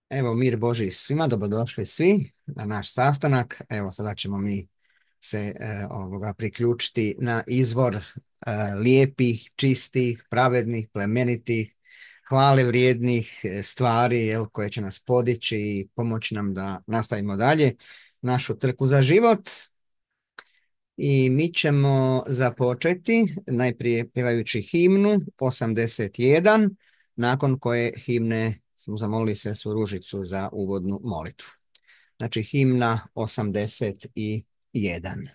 Evo, mir Boži svima, dobrodošli svi na naš sastanak. Evo, sada ćemo mi se priključiti na izvor lijepih, čistih, pravednih, plemenitih, hvale vrijednih stvari koje će nas podići i pomoći nam da nastavimo dalje našu trku za život. I mi ćemo započeti najprije pjevajući himnu 81, nakon koje himne smo zamolili Sestru Ružicu za uvodnu molitvu. Znači himna 81.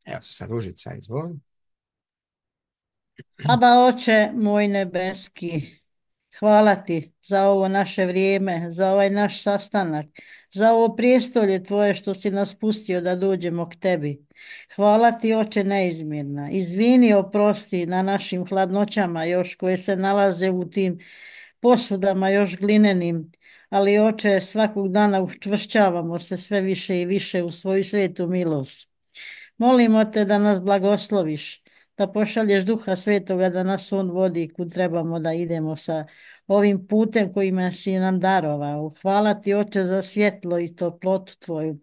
Evo se sad Ružica, izvoli. Aba oče moj nebeski, hvala ti za ovo naše vrijeme, za ovaj naš sastanak, za ovo prijestolje tvoje što si nas pustio da dođemo k tebi. Hvala ti oče neizmjerna. Izvini, oprosti na našim hladnoćama još koje se nalaze u tim posudama još glinenim, ali oče svakog dana učvršćavamo se sve više i više u svoju svetu milost. Molimo te da nas blagosloviš, da pošalješ Duha Svetoga da nas on vodi kud trebamo da idemo sa ovim putem kojima si nam darovao. Hvala ti Oče za svjetlo i toplotu tvoju.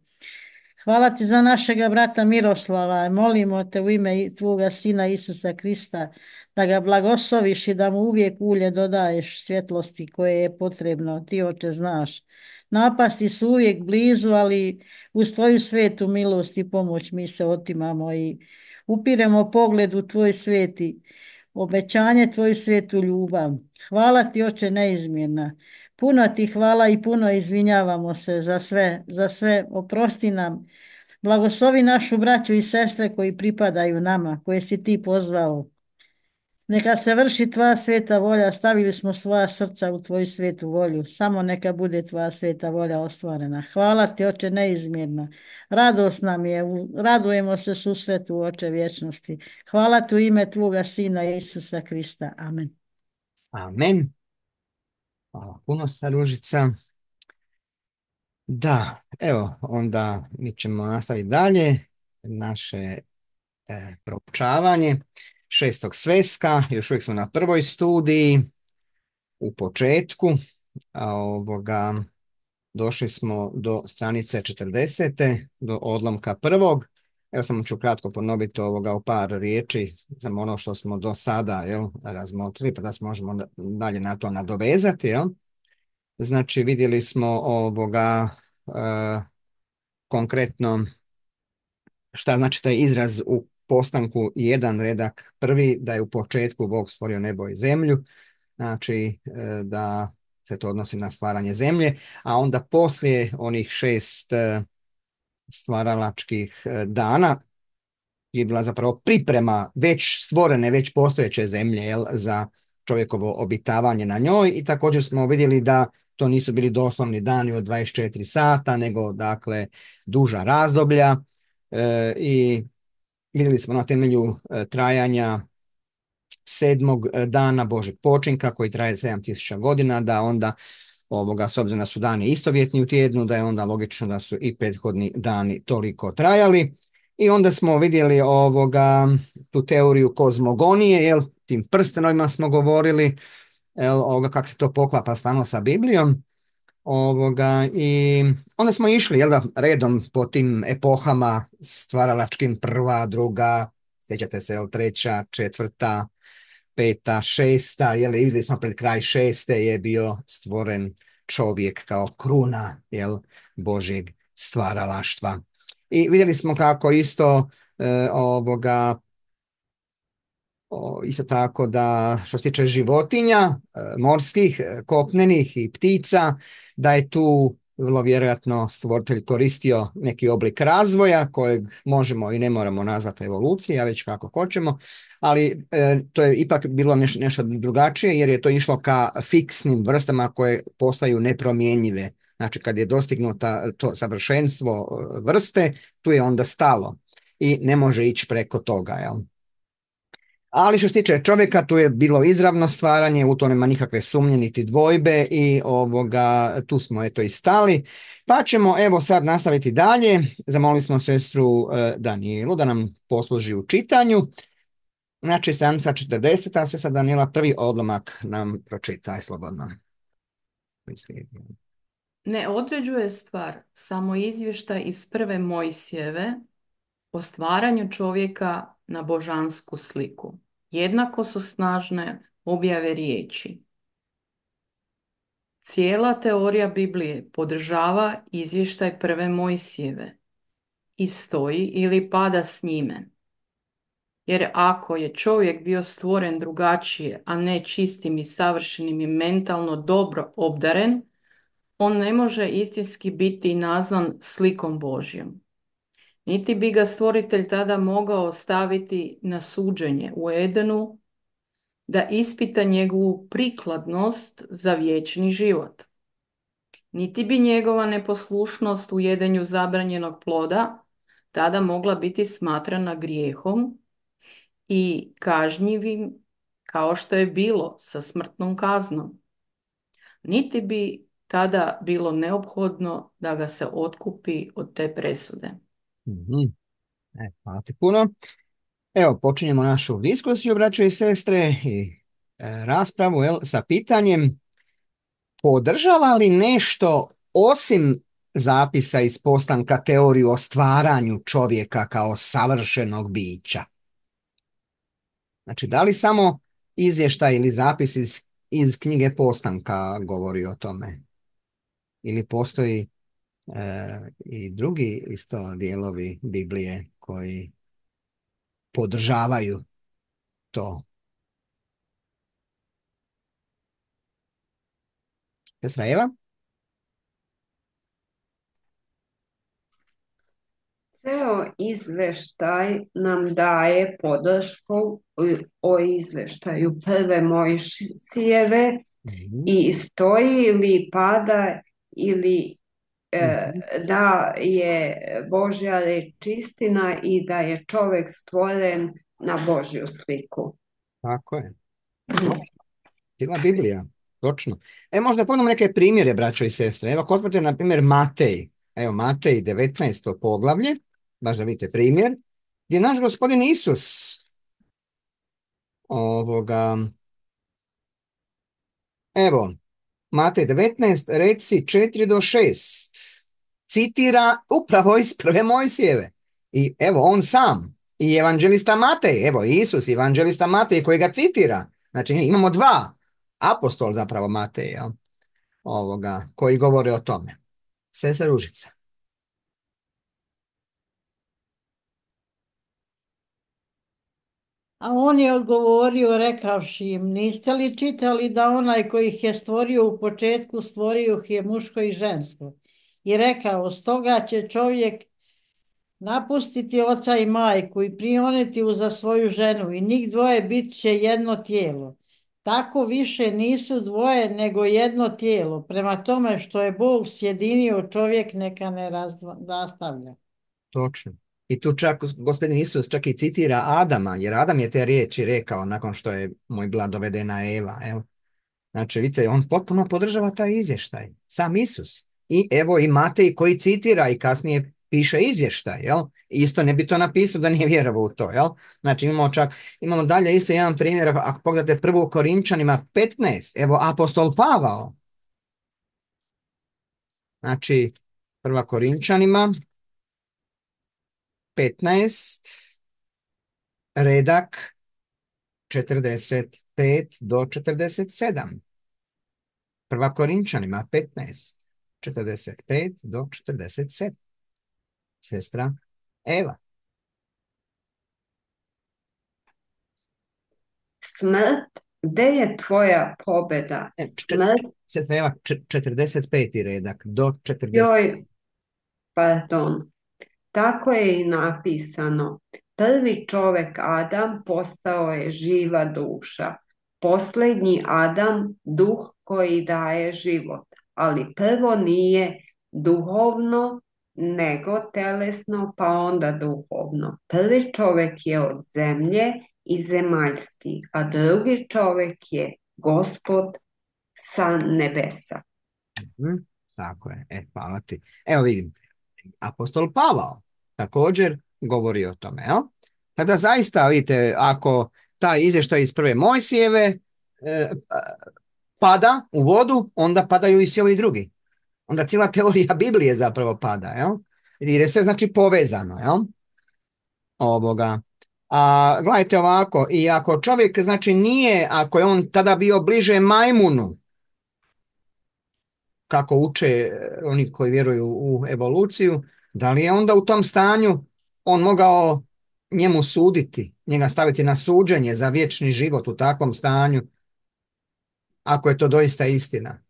Hvala ti za našega brata Miroslava. Molimo te u ime tvoga sina Isusa Krista da ga blagosloviš i da mu uvijek ulje dodaješ svjetlosti koje je potrebno. Ti Oče znaš. Napasti su uvijek blizu, ali uz tvoju svetu milost i pomoć mi se otimamo i upiremo pogled u tvoj sveti, obećanje tvoju svetu ljubav. Hvala ti Oče neizmjerna. Puno ti hvala i puno izvinjavamo se za sve, oprosti nam. Blagoslovi našu braću i sestre koji pripadaju nama, koje si ti pozvao. Neka se vrši tvoja sveta volja, stavili smo svoja srca u tvoju svetu volju. Samo neka bude tvoja sveta volja ostvarena. Hvala ti, Oče, neizmjerna. Radost nam je, radujemo se susretu, Oče vječnosti. Hvala ti u ime tvoga Sina Isusa Krista. Amen. Amen. Hvala puno, Staružica. Da, evo, onda mi ćemo nastaviti dalje naše proučavanje šestog sveska. Još uvijek smo na prvoj studiji, u početku. Došli smo do stranice 40. do odlomka prvog. Evo samo ću kratko ponoviti u par riječi za ono što smo do sada razmotrili, pa da se možemo dalje na to nadovezati. Znači, vidjeli smo konkretno šta znači taj izraz u postanku jedan redak prvi, da je u početku Bog stvorio nebo i zemlju, znači da se to odnosi na stvaranje zemlje, a onda poslije onih 6 stvaralačkih dana je bila zapravo priprema već stvorene, već postojeće zemlje za čovjekovo obitavanje na njoj, i također smo vidjeli da to nisu bili doslovni dani od 24 sata, nego dakle duža razdoblja, i vidjeli smo na temelju trajanja 7. dana Božeg počinka koji traje 7000 godina, da onda s obzirom da su dani istovjetni u tjednu, da je onda logično da su i prethodni dani toliko trajali. I onda smo vidjeli tu teoriju kozmogonije, tim prstenovima smo govorili, kako se to poklapa stvarno sa Biblijom. I onda smo išli redom po tim epohama stvaralačkim, prva, druga, sjećate se, treća, četvrta, peta, šesta, vidjeli smo pred kraj šeste je bio stvoren čovjek kao kruna Božjeg stvaralaštva. I vidjeli smo kako isto isto tako da što se tiče životinja, morskih, kopnenih i ptica, da je tu vrlo vjerojatno stvoritelj koristio neki oblik razvoja kojeg možemo i ne moramo nazvati evolucija, već kako hoćemo, ali to je ipak bilo nešto drugačije, jer je to išlo ka fiksnim vrstama koje postaju nepromjenjive. Znači kad je dostignuta to savršenstvo vrste, tu je onda stalo i ne može ići preko toga, Ali što se tiče čovjeka, tu je bilo izravno stvaranje, u to nema nikakve sumnje niti dvojbe, i tu smo i stali. Pa ćemo sad nastaviti dalje. Zamolili smo sestru Danijelu da nam posluži u čitanju. Znači, stranica 40, a sestra Danijela prvi odlomak nam pročitaj slobodno. Ne određuje stvar samo izvještaj iz prve Mojsijeve o stvaranju čovjeka na božansku sliku. Jednako su snažne objave riječi. Cijela teorija Biblije podržava izvještaj prve Mojsijeve i stoji ili pada s njime. Jer ako je čovjek bio stvoren drugačije, a ne čistim i savršenim i mentalno dobro obdaren, on ne može istinski biti nazvan slikom Božjom. Niti bi ga stvoritelj tada mogao staviti na suđenje u Edenu da ispita njegovu prikladnost za vječni život. Niti bi njegova neposlušnost u jedenju zabranjenog ploda tada mogla biti smatrana grijehom i kažnjivim kao što je bilo sa smrtnom kaznom. Niti bi tada bilo neophodno da ga se otkupi od te presude. Hvala ti puno. Evo, počinjemo našu diskusiju, braćo i sestre, i raspravu sa pitanjem: podržava li nešto osim zapisa iz postanka teoriju o stvaranju čovjeka kao savršenog bića? Znači, da li samo izvještaj ili zapis iz knjige Postanka govori o tome? Ili postoji i drugi isto dijelovi Biblije koji podržavaju to? Sestra Eva? Ceo izveštaj nam daje podršku o izveštaju prve Mojsijeve Mhm. i stoji ili pada ili Mhm. da je Božja reč istina i da je čovjek stvoren na Božju sliku. Tako je. Točno. Cijela Biblija. Točno. Možda pogledamo neke primjere, braćo i sestre. Evo, ako otvorite, na primjer, Matej. Evo, Matej, 19. poglavlje, baš da vidite primjer, gdje naš gospodin Isus, ovoga, evo, Matej 19, reci 4 do 6, citira upravo iz prve Mojsijeve. I evo, on sam, i evanđelista Matej, evo, Isus, evanđelista Matej koji ga citira. Znači, imamo dva apostol zapravo Matej, jel? Koji govore o tome. Sestra Ružica. A on je odgovorio rekavši im, niste li čitali da onaj koji ih je stvorio u početku, stvorio ih je muško i žensko? I rekao, stoga će čovjek napustiti oca i majku i prioniti uza svoju ženu i njih dvoje bit će jedno tijelo. Tako više nisu dvoje nego jedno tijelo. Prema tome što je Bog sjedinio, čovjek neka ne rastavlja. Točno. I tu čak gospodin Isus čak i citira Adama, jer Adam je te riječi rekao nakon što je mu bila dovedena Eva. Evo. Znači, vidite, on potpuno podržava taj izvještaj. Sam Isus. I evo i Matej koji citira i kasnije piše izvještaj. Jel? Isto ne bi to napisao da nije vjerovao u to. Jel? Znači, imamo dalje isto jedan primjer. Ako pogledate prvu Korinčanima 15, evo apostol Pavao. Znači, prva Korinčanima 15, redak 45 do 47. Prva Korinčanima 15, 45 do 47. Sestra Eva. Smrt, gde je tvoja pobjeda? Smrt, Sestra Eva, 45. redak do 40. joj, pardon. Tako je i napisano. Prvi čovjek Adam postao je živa duša. Posljednji Adam duh koji daje život. Ali prvo nije duhovno, nego telesno, pa onda duhovno. Prvi čovjek je od zemlje i zemaljski, a drugi čovjek je Gospod sa nebesa. Tako je. Hvala ti. Evo vidim. Apostol Pavao također govori o tome. Jel? Kada zaista, vidite, ako taj izvještaj iz prve Mojsijeve pada u vodu, onda padaju i svi ovi drugi. Onda cijela teorija Biblije zapravo pada. Jel? Jer je sve znači povezano. Jel? A gledajte ovako, i ako čovjek znači nije, ako je on tada bio bliže majmunu, kako uče oni koji vjeruju u evoluciju, da li je onda u tom stanju on mogao njemu suditi, njega staviti na suđenje za vječni život u takvom stanju, ako je to doista istina?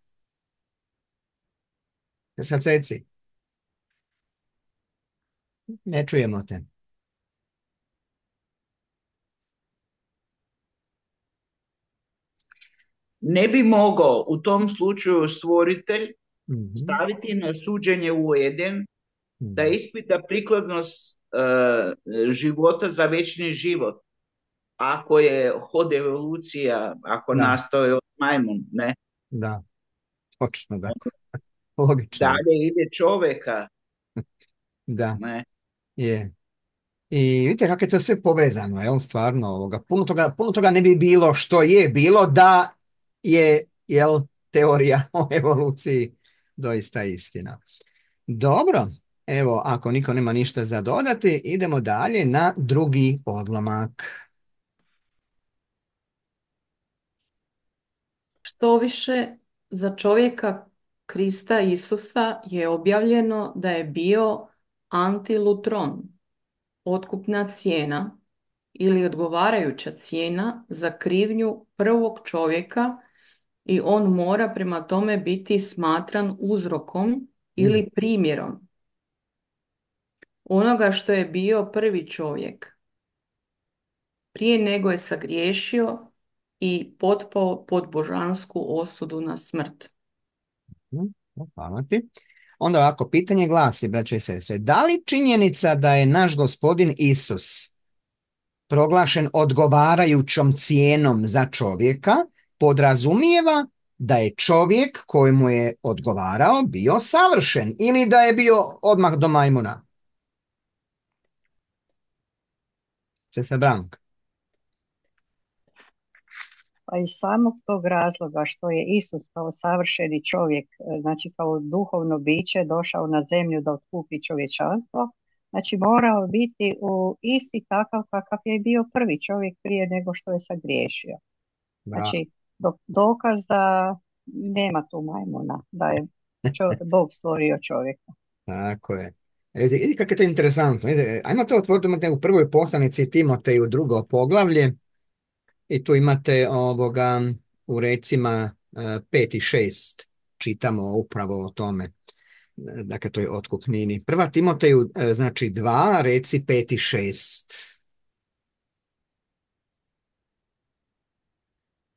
Sad seci. Ne čujemo te. Ne bi mogao u tom slučaju stvoritelj Mhm. staviti na suđenje u Eden da ispita prikladnost života za večni život. Ako je hod evolucija, ako Da. nastaje od majmun, ne? Da, točno da. Logično. Dalje ide čovjeka, Da, ne? je. I vidite kako je to sve povezano, jel, stvarno, puno toga ne bi bilo što je bilo da je, jel, teorija o evoluciji doista istina. Dobro, evo, ako niko nema ništa za dodati, idemo dalje na drugi odlomak. Štoviše, za čovjeka Krista Isusa je objavljeno da je bio antilutron, otkupna cijena ili odgovarajuća cijena za krivnju prvog čovjeka i on mora prema tome biti smatran uzrokom ili primjerom onoga što je bio prvi čovjek prije nego je sagriješio i potpao pod božansku osudu na smrt. Hvala ti. Onda ovako, pitanje glasi, braćo i sestre, da li činjenica da je naš gospodin Isus proglašen odgovarajućom cijenom za čovjeka podrazumijeva da je čovjek kojemu je odgovarao bio savršen ili da je bio odmah do majmuna? Sestra Branka. Pa iz samog tog razloga što je Isus kao savršeni čovjek, znači kao duhovno biće došao na zemlju da otkupi čovječanstvo, znači morao biti isti takav kakav je bio prvi čovjek prije nego što je sagriješio. Znači dokaz da nema tu majmuna, da je Bog stvorio čovjeka. Tako je. Vidi kako je to interesantno. Ajmo to otvoriti u prvoj poslanici Timoteju, drugo poglavlje. I tu imate u recima 5 i 6 čitamo upravo o tome. Dakle, to je otkupnini. Prva Timoteju, znači 2, reci 5 i 6.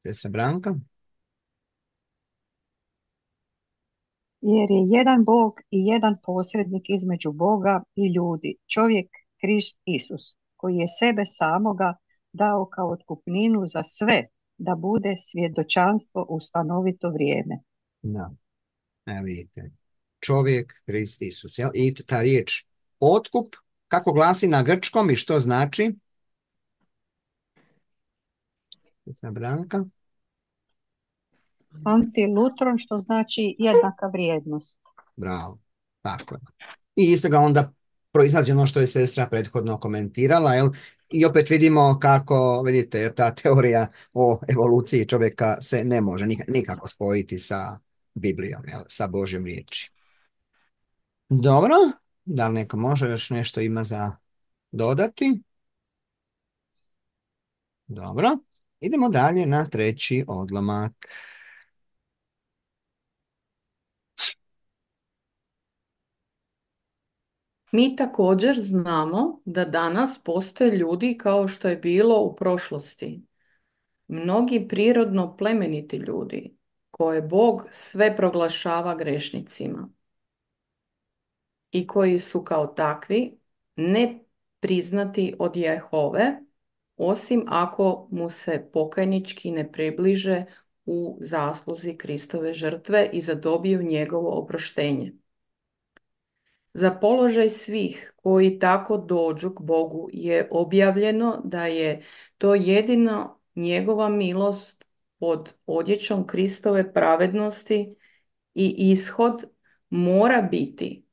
Sestra Branka? Jer je jedan Bog i jedan posrednik između Boga i ljudi, čovjek Krist Isus, koji je sebe samoga dao kao otkupninu za sve, da bude svjedočanstvo u stanovito vrijeme. Da, evo vidite. Čovjek Krist Isus. Jel? I ta riječ otkup, kako glasi na grčkom i što znači? Sestra Branka? Antilutron, što znači jednaka vrijednost. Bravo, tako je. I isto ga onda proizlazi ono što je sestra prethodno komentirala, jel? I opet vidimo kako, vidite, ta teorija o evoluciji čovjeka se ne može nikako spojiti sa Biblijom, jel? Sa Božjom riječi. Dobro, da li neko može još nešto ima za dodati? Dobro, idemo dalje na treći odlomak. Mi također znamo da danas postoje ljudi kao što je bilo u prošlosti. Mnogi prirodno plemeniti ljudi koje Bog sve proglašava grešnicima i koji su kao takvi ne priznati od Jehove, osim ako mu se pokajnički ne približe u zasluzi Kristove žrtve i zadobiju njegovo oproštenje. Za položaj svih koji tako dođu k Bogu je objavljeno da je to jedino njegova milost pod odjećom Kristove pravednosti i ishod mora biti: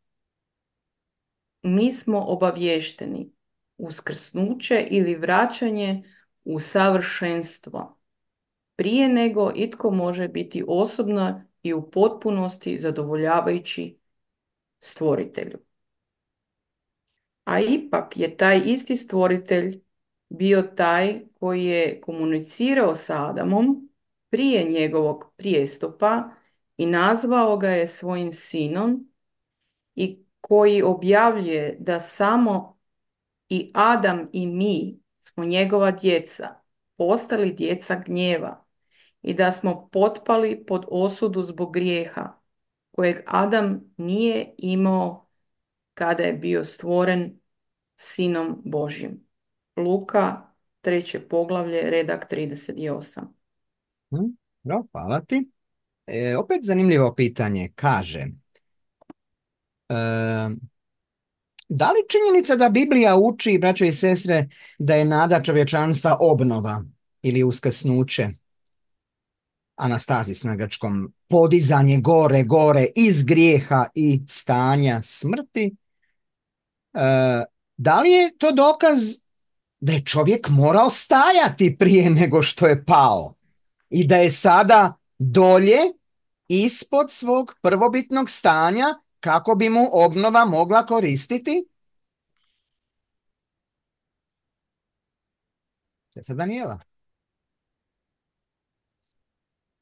mi smo obavješteni uskrsnuće ili vraćanje u savršenstvo prije nego itko može biti osobno i u potpunosti zadovoljavajući stvoritelju. A ipak je taj isti stvoritelj bio taj koji je komunicirao sa Adamom prije njegovog prijestupa i nazvao ga je svojim sinom i koji objavljuje da samo i Adam i mi smo njegova djeca, postali djeca gnjeva i da smo potpali pod osudu zbog grijeha kojeg Adam nije imao kada je bio stvoren sinom Božjim. Luka, 3. poglavlje, redak 38. Hvala ti. Opet zanimljivo pitanje. Kaže, da li činjenica da Biblija uči, braćo i sestre, da je nada čovječanstva obnova ili uskrsnuće, anastazis na grčkom, podizanje gore iz grijeha i stanja smrti, da li je to dokaz da je čovjek morao stajati prije nego što je pao i da je sada dolje ispod svog prvobitnog stanja kako bi mu obnova mogla koristiti? Sestra Danijela.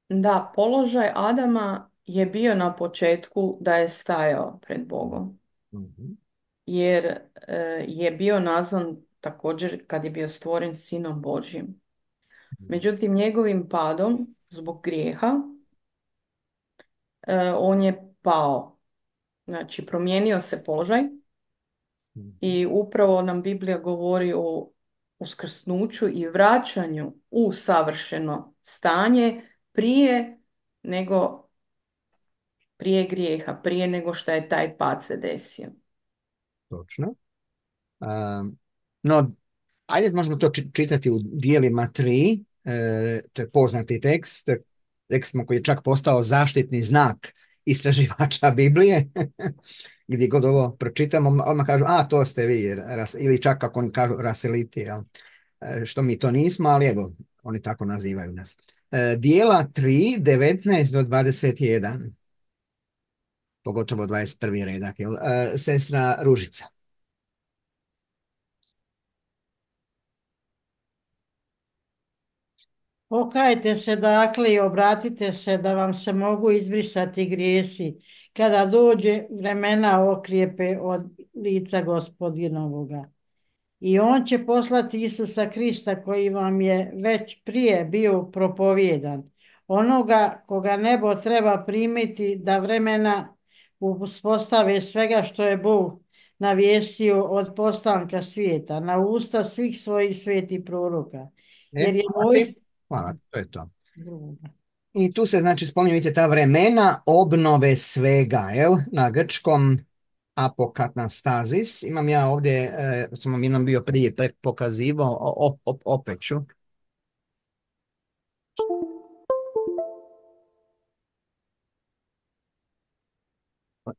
Da, položaj Adama je bio na početku da je stajao pred Bogom, Mhm. jer je bio nazvan također kad je bio stvoren sinom Božjim. Međutim, njegovim padom zbog grijeha on je pao. Znači, promijenio se položaj i upravo nam Biblija govori o uskrsnuću i vraćanju u savršeno stanje nego prije grijeha, prije nego što je taj pad se desio. Točno. No, ajde možemo to čitati u dijelima 3. To je poznati tekst. Tekst koji je čak postao zaštitni znak istraživača Biblije. Gdje god ovo pročitamo, odmah kažu, to ste vi, ili čak kako oni kažu, raseliti, jel? Što mi to nismo, ali evo, oni tako nazivaju nas. Dijela 3, 19 do 21. Pogotovo 21. redak, jel? Sestra Ružica. Pokajte se dakle i obratite se da vam se mogu izbrisati grijesi, kada dođe vremena okrijepe od lica Gospodinovoga. I on će poslati Isusa Krista koji vam je već prije bio propovjedan, onoga koga nebo treba primiti da vremena uspostave svega što je Bog navijestio od postanka svijeta na usta svih svojih svetih proroka. Jer je moj... Hvala, to je to. I tu se znači spominju, vidite, ta vremena obnove svega, jel? Na grčkom apokatastazis. Imam ja ovdje, sam vam jednom bio prije pokazivao, opet ću.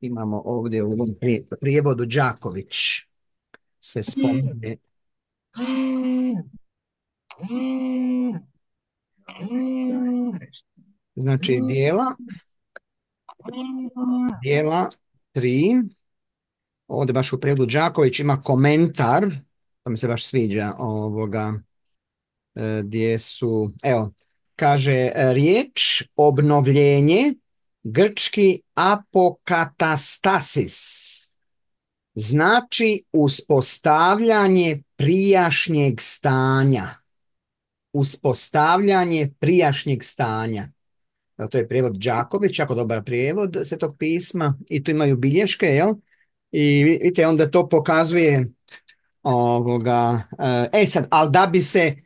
Imamo ovdje u ovom prijevodu Đaković se spominje. Znači dijela 3, ovdje baš u prijevodu Đaković ima komentar, to mi se baš sviđa ovoga, gdje su, evo, kaže riječ obnovljenje, grčki apokatastasis, znači uspostavljanje prijašnjeg stanja. Uspostavljanje prijašnjeg stanja. To je prijevod Đaković, jako dobar prijevod Svetog pisma i tu imaju bilješke, jel? I vidite, onda to pokazuje ovoga. Sad, ali da bi se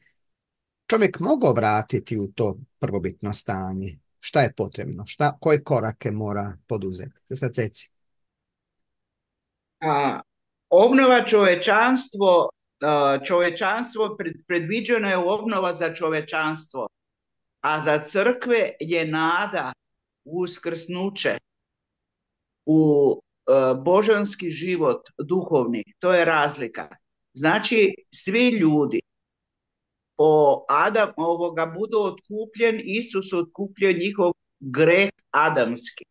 čovjek mogao vratiti u to prvobitno stanje, šta je potrebno? Koje korake mora poduzeti? Sad ceci. Obnova čovečanstvo predviđeno je obnova za čovečanstvo, a za crkve je nada u uskrsnuće, u božanski život, duhovni. To je razlika. Znači, svi ljudi budu otkupljen, Isus otkupljio njihov greh adamski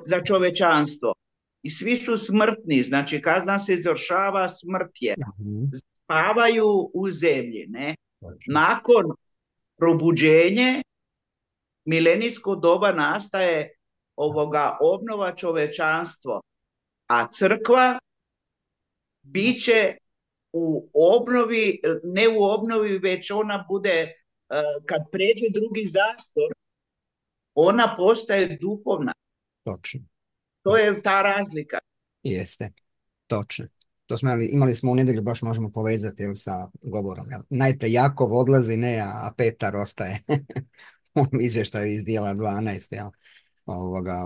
za čovečanstvo. I svi su smrtni, znači kazna se izvršava, smrt je. Spavaju u zemlji, ne? Nakon probuđenje, milenijsko doba nastaje obnova čovečanstvo, a crkva biće u obnovi, ne u obnovi, već ona bude, kad pređe drugi zastor, ona postaje duhovna. Točno. To je ta razlika. Jeste, točno. To smo imali smo u nedjelju, baš možemo povezati sa govorom. Jel? Najprije Jakov odlazi, ne, a Petar ostaje. U izvještaju iz dijela 12. Jel?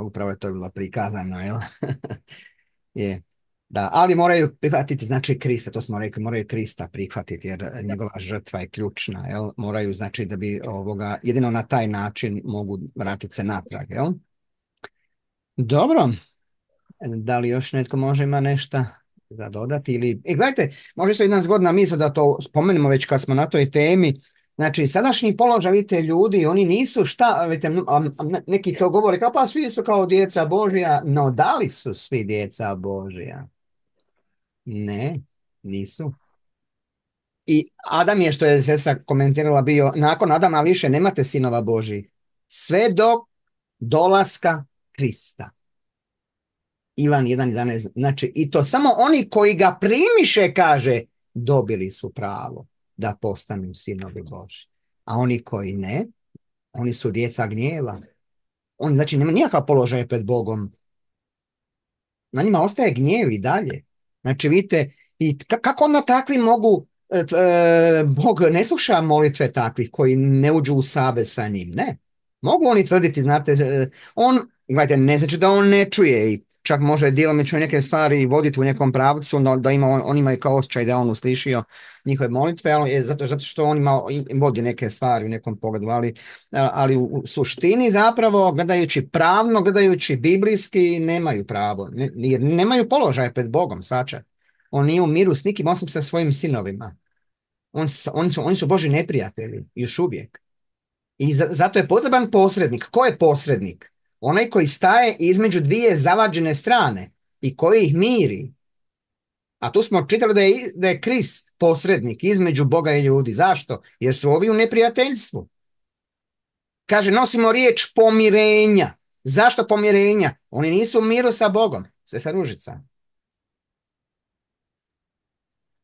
Upravo je to bilo prikazano. Jel? Je. Da, ali moraju prihvatiti, znači, Krista, to smo rekli, moraju Krista prihvatiti, jer njegova žrtva je ključna. Jel? Moraju, znači, da bi jedino na taj način mogu vratiti se natrag. Jel? Dobro. Da li još netko ima nešto za dodati? Ili... gledajte, može se jedna zgodna misla da to spomenemo već kad smo na toj temi. Znači, sadašnji položaj, vidite, ljudi, oni nisu vidite, neki to govore, kao pa svi su kao djeca Božja, no da li su svi djeca Božja? Ne, nisu. I Adam je, što je sestra komentirala, bio, nakon Adama više nemate sinova Božjih. sve do dolaska Krista. Ivan 1.11. Znači, i to samo oni koji ga primiše, kaže, dobili su pravo da postanu sinovi Božji. A oni koji ne, oni su djeca gnjeva. Oni, znači, nema nikakav položaj pred Bogom. Na njima ostaje gnjev i dalje. Znači, vidite, i kako onda takvi mogu, Bog ne sluša molitve takvih koji ne uđu u savez sa njim, ne. Mogu oni tvrditi, znate, gledajte, ne znači da on ne čuje i čak može djelomično neke stvari voditi u nekom pravcu, da on ima i kao osjećaj da on uslišio njihove molitve, ali zato što on vodi neke stvari u nekom pogledu, ali u suštini zapravo, gledajući pravno, gledajući biblijski, nemaju pravo, jer nemaju položaj pred Bogom, svačat. On nije u miru s nikim, osim sa svojim sinovima. Oni su Božji neprijatelji, još uvijek. I zato je potreban posrednik. Ko je posrednik? Onaj koji staje između dvije zavađene strane i koji ih miri. A tu smo čitali da je Krist posrednik između Boga i ljudi. Zašto? Jer su ovi u neprijateljstvu. Kaže, nosimo riječ pomirenja. Zašto pomirenja? Oni nisu u miru sa Bogom. Sve sa Ružica.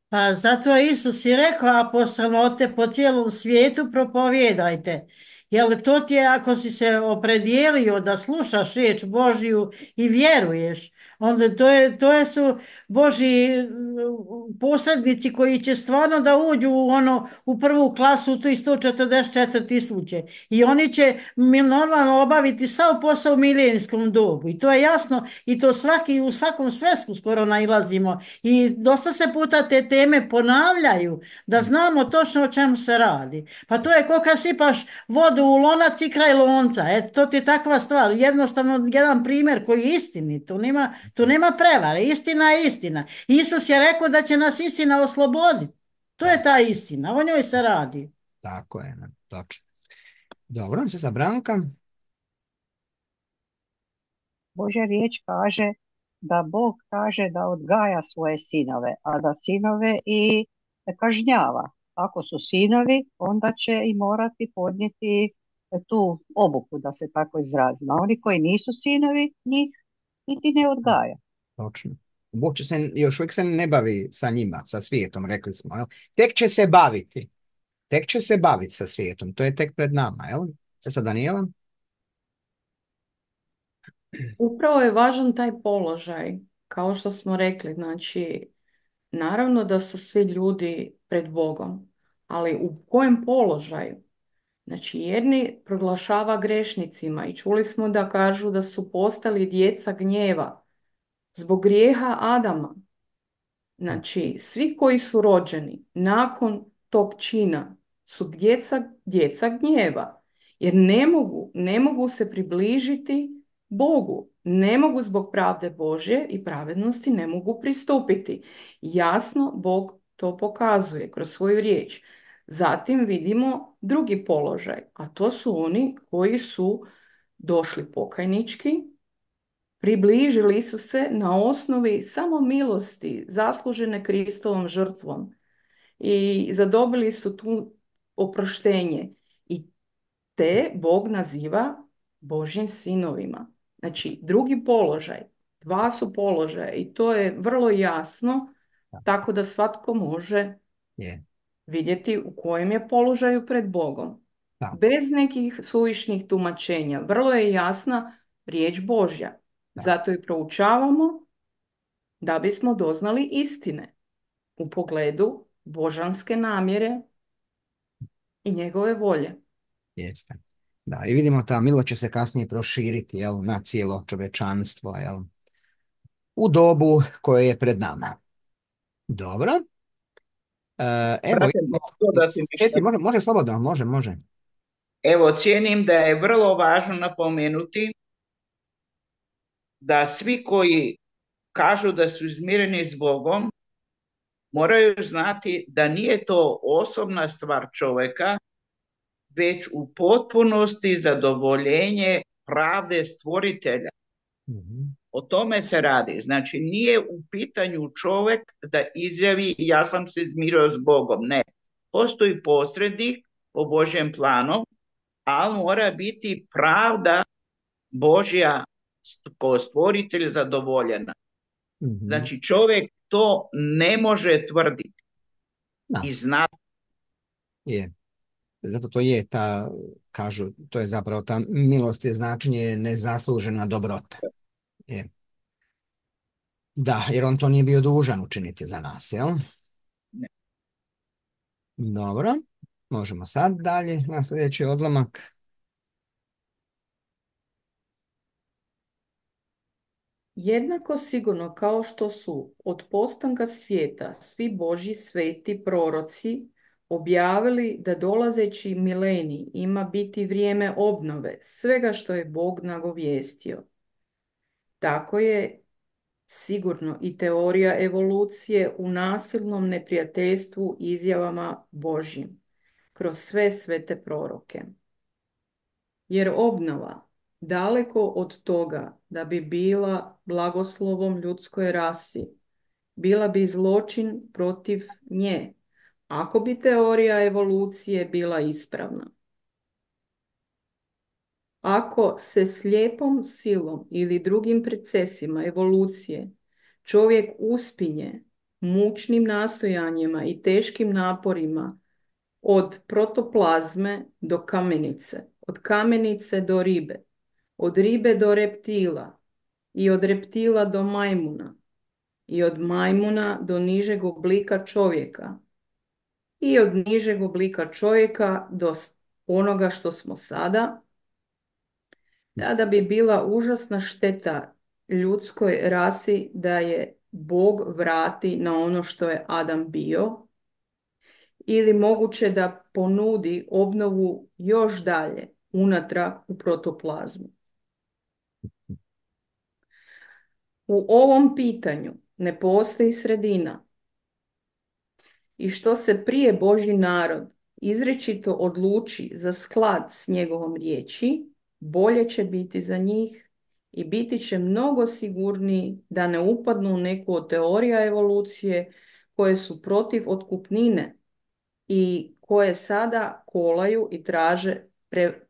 Pa zato je Isus i rekao apostolote po cijelom svijetu propovijedajte. Jer to ti je, ako si se opredijelio da slušaš riječ Božju i vjeruješ, onda to su Božji posrednici koji će stvarno da uđu u prvu klasu, u tih 144.000. I oni će normalno obaviti sav posao u milenijskom dobu. I to je jasno, i to u svakom svesku skoro nailazimo. I dosta se puta te teme ponavljaju, da znamo točno o čemu se radi. Pa to je kao kad sipaš vodu u lonac i kraj lonca. To ti je takva stvar. Jednostavno jedan primjer koji je istinit. Tu nema prevare. Istina je istina. Isus je rekao da će nas istina osloboditi. To je ta istina. O njoj se radi. Tako je, točno. Dobro, se sa Branka. Božja riječ kaže da Bog kaže da odgaja svoje sinove, a da sinove i kažnjava. Ako su sinovi, onda će i morati podnijeti tu obuku, da se tako izrazimo. A oni koji nisu sinovi, njih niti ne odgaja. Točno. Bog još uvijek se ne bavi sa njima, sa svijetom, rekli smo. Jel? Tek će se baviti. Tek će se baviti sa svijetom. To je tek pred nama. Jel? Sve sa Danijelom? Upravo je važan taj položaj, kao što smo rekli, znači, naravno da su svi ljudi pred Bogom, ali u kojem položaju? Znači, jedni proglašava grešnicima i čuli smo da kažu da su postali djeca gnjeva zbog grijeha Adama. Znači, svi koji su rođeni nakon tog čina su djeca gnjeva, jer ne mogu se približiti Bogu, ne mogu zbog pravde Božje i pravednosti ne mogu pristupiti. Jasno, Bog to pokazuje kroz svoju riječ. Zatim vidimo drugi položaj, a to su oni koji su došli pokajnički, približili su se na osnovi samo milosti, zaslužene Kristovom žrtvom i zadobili su tu oproštenje. I te Bog naziva Božjim sinovima. Znači, drugi položaj, dva su položaja i to je vrlo jasno, tako da svatko može vidjeti u kojem je položaju pred Bogom. Bez nekih suvišnih tumačenja. Vrlo je jasna riječ Božja. Zato i proučavamo da bismo doznali istine u pogledu božanske namjere i njegove volje. Jeste. Da, i vidimo ta milost će se kasnije proširiti, jel, na cijelo čovečanstvo, jel, u dobu koje je pred nama. Dobro. Evo, može slobodno, može. Evo, cijenim da je vrlo važno napomenuti da svi koji kažu da su izmireni s Bogom moraju znati da nije to osobna stvar čovjeka, već u potpunosti zadovoljenje pravde stvoritelja. O tome se radi. Znači, nije u pitanju čovjek da izjavi ja sam se izmirio s Bogom. Ne. Postoji posrednik po Božjem planu, ali mora biti pravda Božja kao stvoritelj zadovoljena. Mhm. Znači čovjek to ne može tvrditi Da. i znati. Je. Zato to je ta, kažu, to je zapravo ta milost je značenje nezaslužena dobrota. Je. Da, jer on to nije bio dužan učiniti za nas, jel? Ne. Dobro, možemo sad dalje na sljedeći odlomak. Jednako sigurno kao što su od postanka svijeta svi Božji sveti proroci objavili da dolazeći milenij ima biti vrijeme obnove svega što je Bog nagovijestio. Tako je sigurno i teorija evolucije u nasilnom neprijateljstvu izjavama Božjim kroz sve svete proroke. Jer obnova, daleko od toga da bi bila blagoslovom ljudskoj rasi, bila bi zločin protiv nje, ako bi teorija evolucije bila ispravna. Ako se slijepom silom ili drugim procesima evolucije čovjek uspinje mučnim nastojanjima i teškim naporima od protoplazme do kamenice, od kamenice do ribe, od ribe do reptila i od reptila do majmuna i od majmuna do nižeg oblika čovjeka i od nižeg oblika čovjeka do onoga što smo sada, tada bi bila užasna šteta ljudskoj rasi da je Bog vrati na ono što je Adam bio, ili moguće da ponudi obnovu još dalje unatrag u protoplazmu. U ovom pitanju ne postoji sredina i što se prije Božji narod izričito odluči za sklad s njegovom riječi, bolje će biti za njih i biti će mnogo sigurniji da ne upadnu u neku od teorija evolucije koje su protiv otkupnine i koje sada kolaju i traže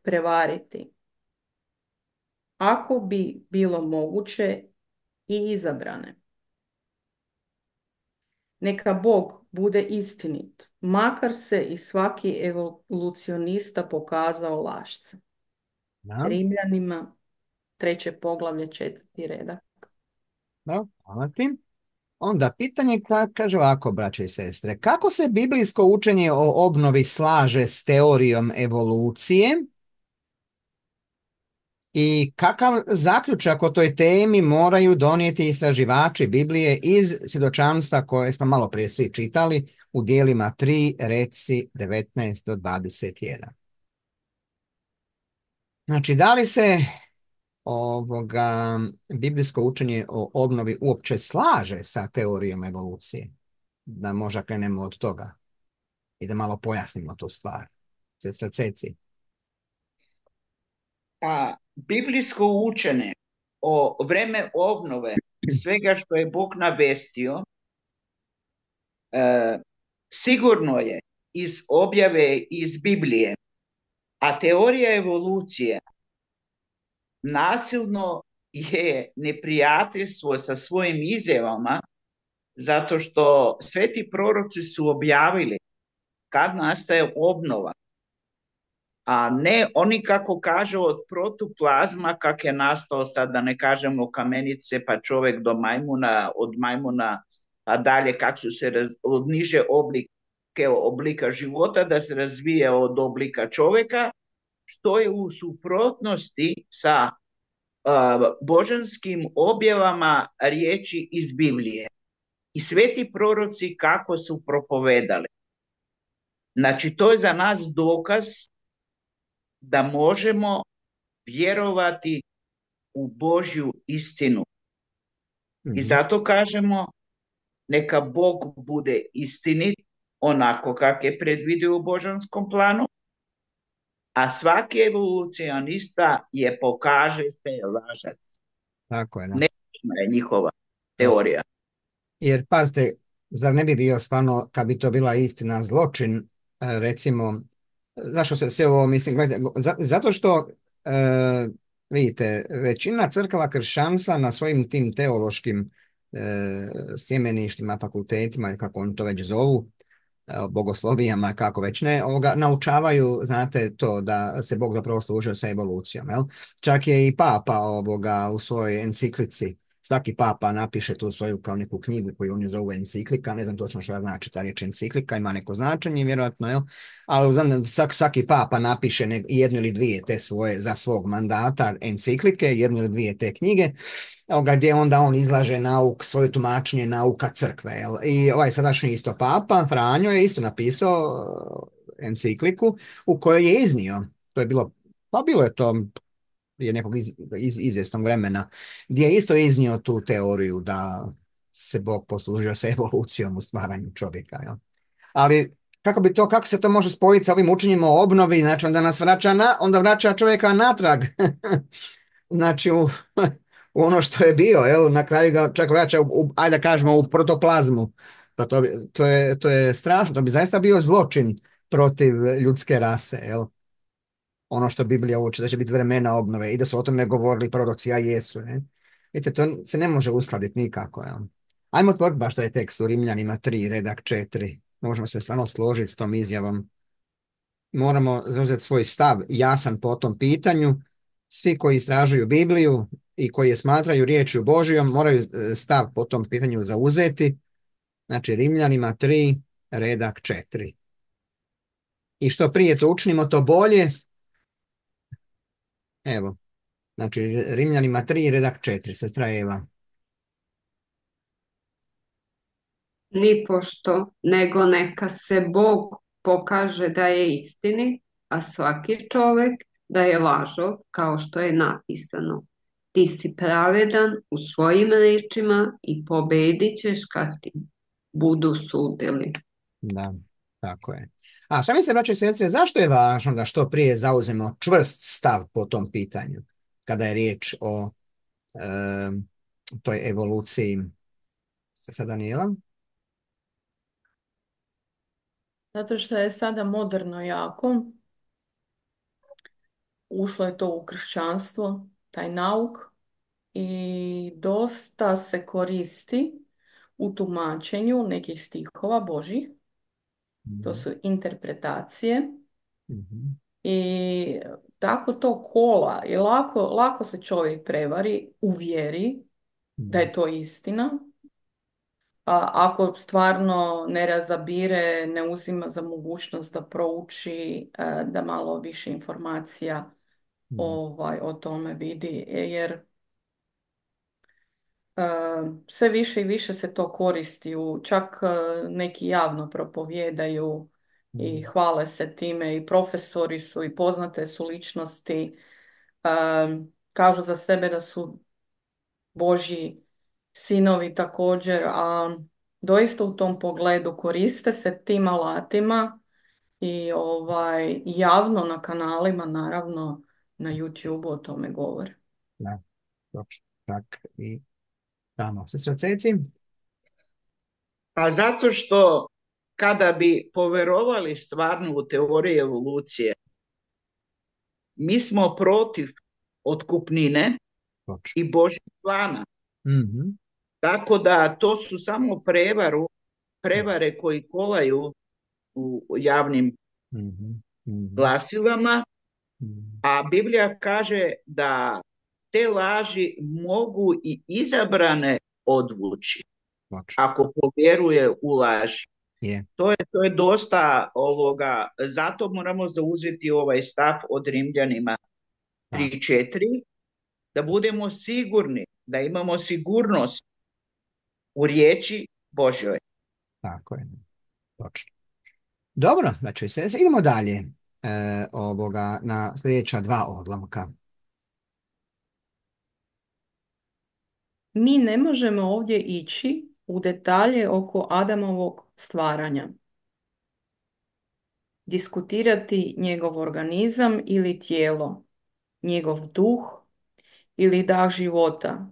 prevariti. Ako bi bilo moguće i izabrane. Neka Bog bude istinit, makar se i svaki evolucionista pokazao lašca. Da. Rimljanima, 3. poglavlje, 4. redak. Dobro, hvala ti. Onda pitanje kaže ovako, braće i sestre, kako se biblijsko učenje o obnovi slaže s teorijom evolucije i kakav zaključak o toj temi moraju donijeti istraživači Biblije iz svjedočanstva koje smo malo prije svi čitali u dijelima 3, reci 19 do 21. Znači, da li se biblijsko učenje o obnovi uopće slaže sa teorijom evolucije? Da možda krenemo od toga i da malo pojasnimo tu stvar. Sestra Ceci. A biblijsko učenje o vreme obnove svega što je Bog navestio sigurno je iz objave iz Biblije, a teorija evolucije nasilno je neprijateljstvo sa svojim izjavama, zato što sveti proroci su objavili kad nastaje obnova, a ne oni kako kažu od protoplazma kak je nastao, sad da ne kažemo kamenice pa čovjek do majmuna, od majmuna a dalje kak su se od niže oblika života da se razvije od oblika čovjeka, što je u suprotnosti sa božanskim objavama riječi iz Biblije. I sveti proroci kako su propovedali. Znači, to je za nas dokaz da možemo vjerovati u Božju istinu. I zato kažemo, neka Bog bude istinit, onako kak je predvidio u božanskom planu, a svaki evolucionista je pokaže se lažac. Tako je, da. Nečna je njihova teorija. Jer, pazite, zar ne bi bio stvarno, kad bi to bila istina, zločin, recimo, Zašto se sve ovo, mislim, gledajte, zato što, vidite, većina crkava kršćanstva na svojim tim teološkim sjemeništima, fakultetima, kako oni to već zovu, bogoslovijama, kako već ne, naučavaju, znate, to da se Bog zapravo služio sa evolucijom. Jel? Čak je i papa u svojoj enciklici, svaki papa napiše tu svoju kao neku knjigu koju oni zovu enciklika, ne znam točno što znači ta riječ enciklika, ima neko značenje vjerojatno, jel? Ali znam, svaki papa napiše jednu ili dvije te svoje za svog mandata enciklike, jednu ili dvije te knjige, gdje onda on izlaže svoje tumačenje nauka crkve. Jel? I ovaj sadašnji isto papa, Franjo, je isto napisao encikliku u kojoj je iznio, to je bilo, pa bilo je to prije nekog izvjesnog vremena, gdje je isto iznio tu teoriju da se Bog poslužio sa evolucijom u stvaranju čovjeka. Jel? Ali kako se to može spojiti sa ovim učenjima o obnovi, znači onda vraća čovjeka natrag. Znači u ono što je bio, jel, na kraju ga čak vraća ajde da kažemo u protoplazmu. Pa to je strašno, to bi zaista bio zločin protiv ljudske rase, jel. Ono što Biblija uči, da će biti vremena obnove i da su o tome govorili proroci, a jesu. Ne? Vidite, to se ne može uskladiti nikako. Jel. Ajmo otvoriti baš taj tekst u Rimljanima 3, redak 4. Možemo se stvarno složiti s tom izjavom. Moramo zauzeti svoj stav jasan po tom pitanju. Svi koji istražuju Bibliju i koji je smatraju riječju Božijom moraju stav po tom pitanju zauzeti. Znači Rimljanima 3, redak 4. I što prije to učinimo, to bolje. Evo, znači Rimljanima 3, redak 4, sestra Eva. Nipošto, nego neka se Bog pokaže da je istinit, a svaki čovjek da je lažov, kao što je napisano. Ti si pravedan u svojim riječima i pobedit ćeš kad ti budu sudili. Da, tako je. A šta mislite, braćo i sestre, zašto je važno da što prije zauzemo čvrst stav po tom pitanju, kada je riječ o toj evoluciji? Sa Danijela? Zato što je sada moderno jako. Ušlo je to u kršćanstvo, taj nauk, i dosta se koristi u tumačenju nekih stihova Božih. To su interpretacije. Mhm. I tako to kola i lako se čovjek prevari, uvjeri da je to istina. A ako stvarno ne razabire, ne uzima za mogućnost da prouči, da malo više informacija o tome vidi, jer sve više i više se to koristi, čak neki javno propovijedaju i hvale se time, i profesori su i poznate su ličnosti, kažu za sebe da su Božji sinovi također, a doista u tom pogledu koriste se tim alatima i javno na kanalima, naravno na YouTube o tome govore. Da, točno. Tak i tamo. Sestra Ceci? Pa zato što kada bi poverovali stvarno u teoriju evolucije, mi smo protiv otkupnine Točno. i Božjeg plana. Mhm. Tako da to su samo prevare koji kolaju u javnim Mhm. Mhm. glasilama, Mhm. a Biblija kaže da te laži mogu i izabrane odvući Točno. ako povjeruje u laži. Je. To je dosta ovoga, zato moramo zauzeti ovaj stav od Rimljanima 3:4, da budemo sigurni, da imamo sigurnost u riječi Božjoj. Tako je. Točno. Dobro, znači idemo dalje na sljedeća 2 odlomka. Mi ne možemo ovdje ići u detalje oko Adamovog stvaranja, diskutirati njegov organizam ili tijelo, njegov duh ili dah života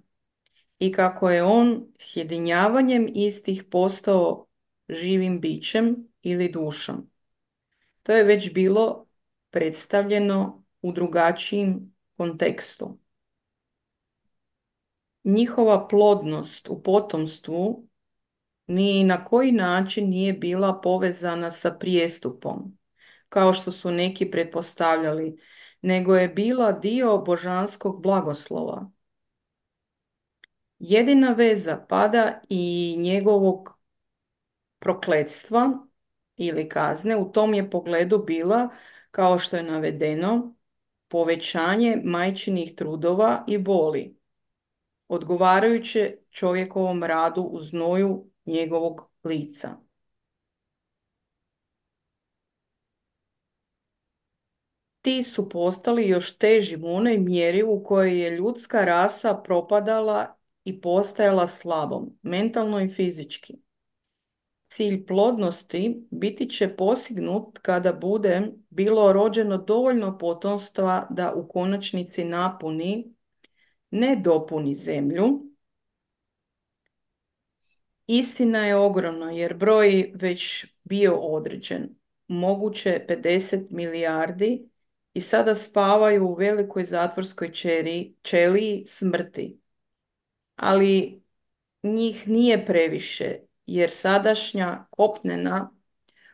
i kako je on sjedinjavanjem istih postao živim bićem ili dušom. To je već bilo predstavljeno u drugačijim kontekstu. Njihova plodnost u potomstvu ni na koji način nije bila povezana sa prijestupom, kao što su neki pretpostavljali, nego je bila dio božanskog blagoslova. Jedina veza pada i njegovog prokletstva ili kazne u tom je pogledu bila, kao što je navedeno, povećanje majčinih trudova i boli, odgovarajuće čovjekovom radu u znoju njegovog lica. Ti su postali još teži u onoj mjeri u kojoj je ljudska rasa propadala i postajala slabom, mentalno i fizički. Cilj plodnosti biti će postignut kada bude bilo rođeno dovoljno potomstva da u konačnici napuni, ne dopuni zemlju. Istina je ogromna jer broj već bio određen, moguće 50 milijardi i sada spavaju u velikoj zatvorskoj ćeliji smrti. Ali njih nije previše jer sadašnja kopnena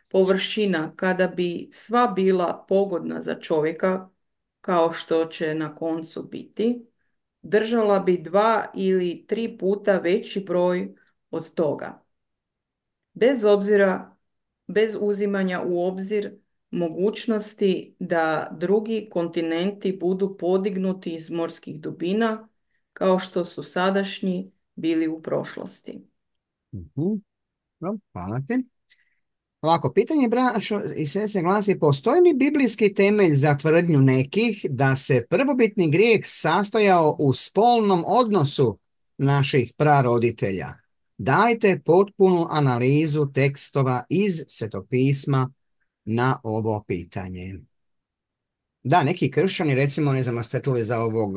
površina kada bi sva bila pogodna za čovjeka, kao što će na koncu biti, držala bi 2 ili 3 puta veći broj od toga. Bez uzimanja u obzir mogućnosti da drugi kontinenti budu podignuti iz morskih dubina, kao što su sadašnji bili u prošlosti. Dobro, hvala ti. Ovako, pitanje braćo i sestre glasi, postoji li biblijski temelj za tvrdnju nekih da se prvobitni grijeh sastojao u spolnom odnosu naših praroditelja? Dajte potpunu analizu tekstova iz Svetog pisma na ovo pitanje. Da, neki kršćani, recimo, ne znam, ste čuli za ovog,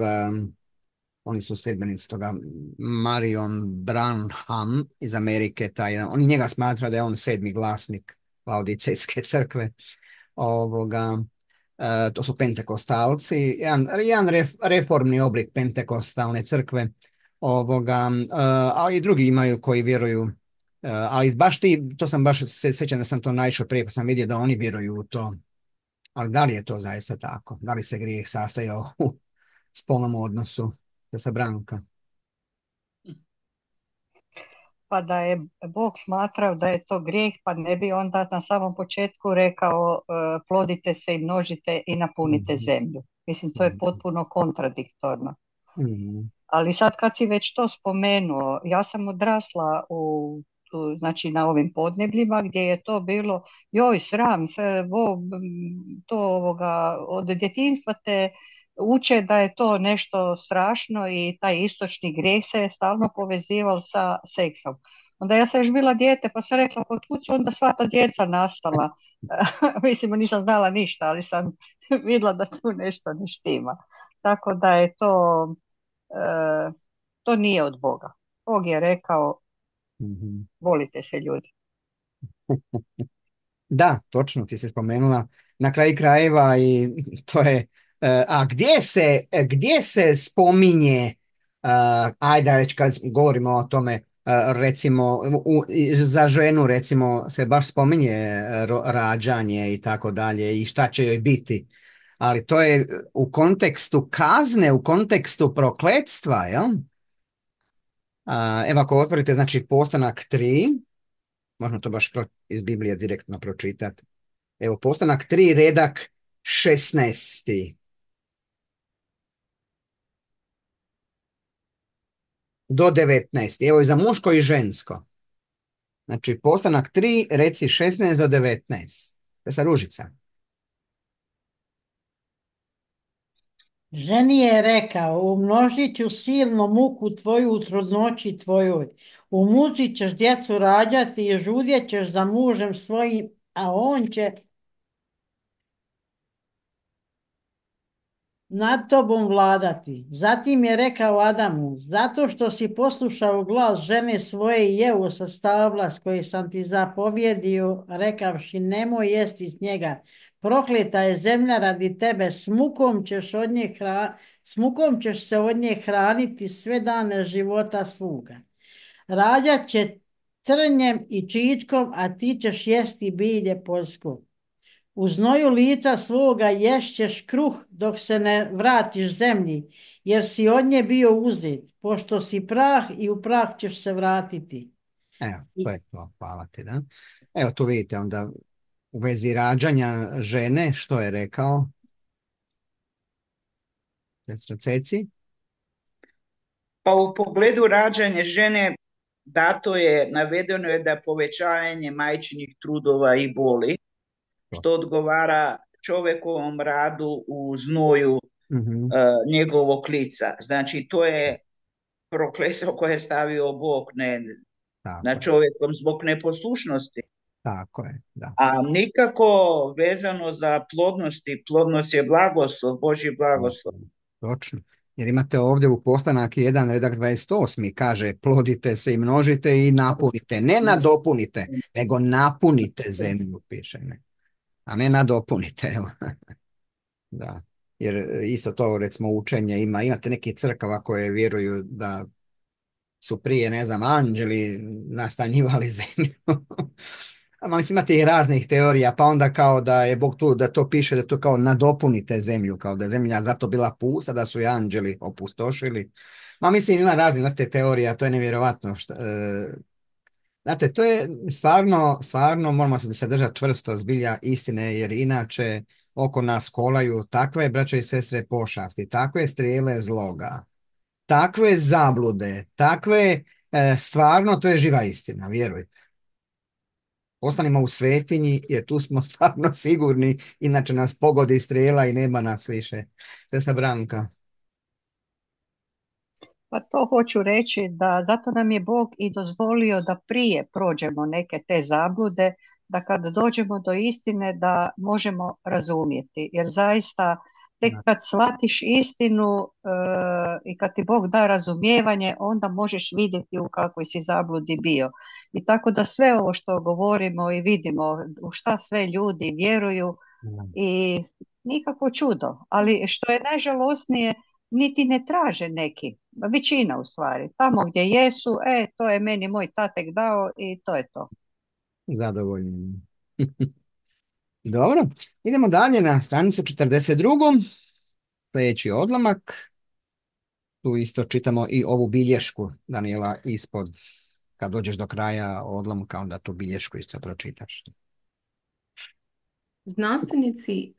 oni su sljedbenici toga, Marion Branham iz Amerike, oni njega smatra da je on 7. glasnik Laodicejske crkve. To su pentekostalci, jedan reformni oblik pentekostalne crkve, ali i drugi imaju koji vjeruju, ali baš to sam baš se sjećam da sam to naišao prije pa sam vidio da oni vjeruju u to. Ali da li je to zaista tako? Da li se grijeh sastojao u spolnom odnosu sa Branka? Pa da je Bog smatrao da je to grijeh, pa ne bi onda na samom početku rekao plodite se i množite i napunite zemlju. Mislim, to je potpuno kontradiktorno. Ali sad kad si već to spomenuo, ja sam odrasla znači na ovim podnebljima gdje je to bilo, joj sram se, od djetinjstva te uče da je to nešto strašno i taj istočni grijeh se je stalno povezivao sa seksom. Onda ja sam još bila dijete pa sam rekla, kod kud su onda sva ta djeca nastala? Mislim, nisam znala ništa, ali sam vidjela da tu nešto ne štima. Tako da je to nije od Boga. Bog je rekao, volite se ljudi. Da, točno ti se spomenula na kraju krajeva i to je, a gdje se spominje, ajde već kad govorimo o tome, recimo za ženu recimo se baš spominje rađanje i tako dalje i šta će joj biti, ali to je u kontekstu kazne, u kontekstu prokletstva, jel? Evo ako otvorite, znači Postanak 3, možemo to baš iz Biblije direktno pročitati. Evo, Postanak 3, redak 16. Do 19. Evo i za muško i žensko. Znači, Postanak 3, reci 16 do 19. To je sa Ružica. Ženi je rekao, umnožit ću silnu muku tvoju u trudnoći tvojoj. U muci ćeš djecu rađati i žudjet ćeš za mužem svojim, a on će nad tobom vladati. Zatim je rekao Adamu, zato što si poslušao glas žene svoje i jeo sa stabla s koji sam ti zapovjedio, rekavši nemoj jesti s njega. Prokleta je zemlja radi tebe, s mukom ćeš se od nje hraniti sve dane života svoga. Rađat će trnjem i čičkom, a ti ćeš jesti bilje poljsko. U znoju lica svoga ješćeš kruh dok se ne vratiš zemlji, jer si od nje bio uzet, pošto si prah i u prah ćeš se vratiti. Evo, I to je to, hvala ti, da. Evo, tu vidite onda u vezi rađanja žene, što je rekao sestra Ceci. Pa u pogledu rađanja žene navedeno je da povećanje majčinih trudova i boli, što odgovara čovjekovom radu u znoju Mhm, njegovog lica. Znači, to je prokletstvo koje je stavio Bog na tako je, čovjekom zbog neposlušnosti. tako je, da. A nikako vezano za plodnosti. Plodnost je blagoslov, Božji blagoslov. Točno. Jer imate ovdje u Postanak 1, redak 28. kaže plodite se i množite i napunite. Ne nadopunite, nego napunite zemlju, piše. Ne? A ne nadopunite. Evo. Da. Jer isto to recimo učenje imate neke crkava koje vjeruju da su prije, ne znam, anđeli nastanjivali zemlju. A mislim, imate i raznih teorija, pa onda kao da je Bog tu, da to piše da to kao nadopunite zemlju, kao da je zemlja zato bila pusta, da su i anđeli opustošili. Ma mislim, ima raznih, znate, teorija, to je nevjerovatno. Znate, to je stvarno moramo se držati čvrsto zbilja istine, jer inače oko nas kolaju takve, braćo i sestre, pošasti, takve strijele zloga, takve zablude, takve, stvarno, to je živa istina, vjerujte. Ostanimo u svetinji, jer tu smo stvarno sigurni, inače nas pogodi strijela i nema nas više. Sestra Branka. Pa to hoću reći da zato nam je Bog i dozvolio da prije prođemo neke te zablude, da kad dođemo do istine da možemo razumjeti. Jer zaista tek kad shvatiš istinu i kad ti Bog da razumijevanje, onda možeš vidjeti u kakvoj si zabludi bio. I tako da sve ovo što govorimo i vidimo, u šta sve ljudi vjeruju i nikakvo čudo. Ali što je najžalosnije, niti ne traže neki, većina u stvari. Tamo gdje jesu, to je meni moj tatek dao i to je to. Zadovoljni. Dobro, idemo dalje na stranicu 42. Sljedeći odlomak. Tu isto čitamo i ovu bilješku, Daniela, ispod. Kad dođeš do kraja odlomka, onda tu bilješku isto pročitaš. Znanstvenici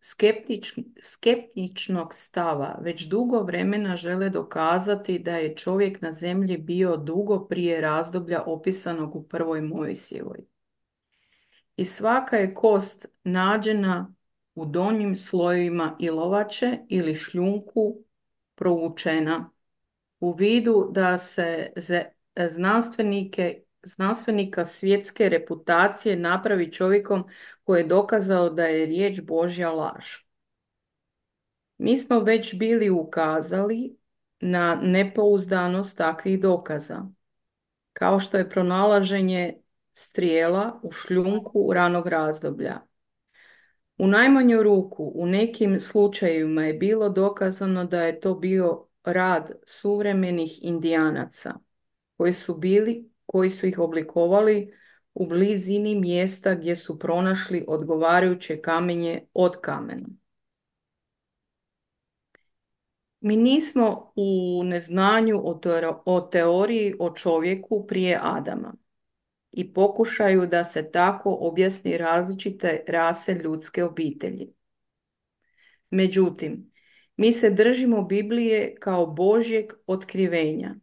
skeptičnog stava već dugo vremena žele dokazati da je čovjek na zemlji bio dugo prije razdoblja opisanog u prvoj Mojsijevoj. I svaka je kost nađena u donjim slojevima ilovače ili šljunku provučena u vidu da se znanstvenika svjetske reputacije napravi čovjekom koji je dokazao da je riječ Božja laž. Mi smo već bili ukazali na nepouzdanost takvih dokaza, kao što je pronalaženje strijela u šljunku ranog razdoblja. U najmanju ruku u nekim slučajevima je bilo dokazano da je to bio rad suvremenih Indijanaca koji su ih oblikovali u blizini mjesta gdje su pronašli odgovarajuće kamenje od kamena. Mi nismo u neznanju o teoriji o čovjeku prije Adama i pokušaju da se tako objasni različite rase ljudske obitelji. Međutim, mi se držimo Biblije kao Božjeg otkrivenja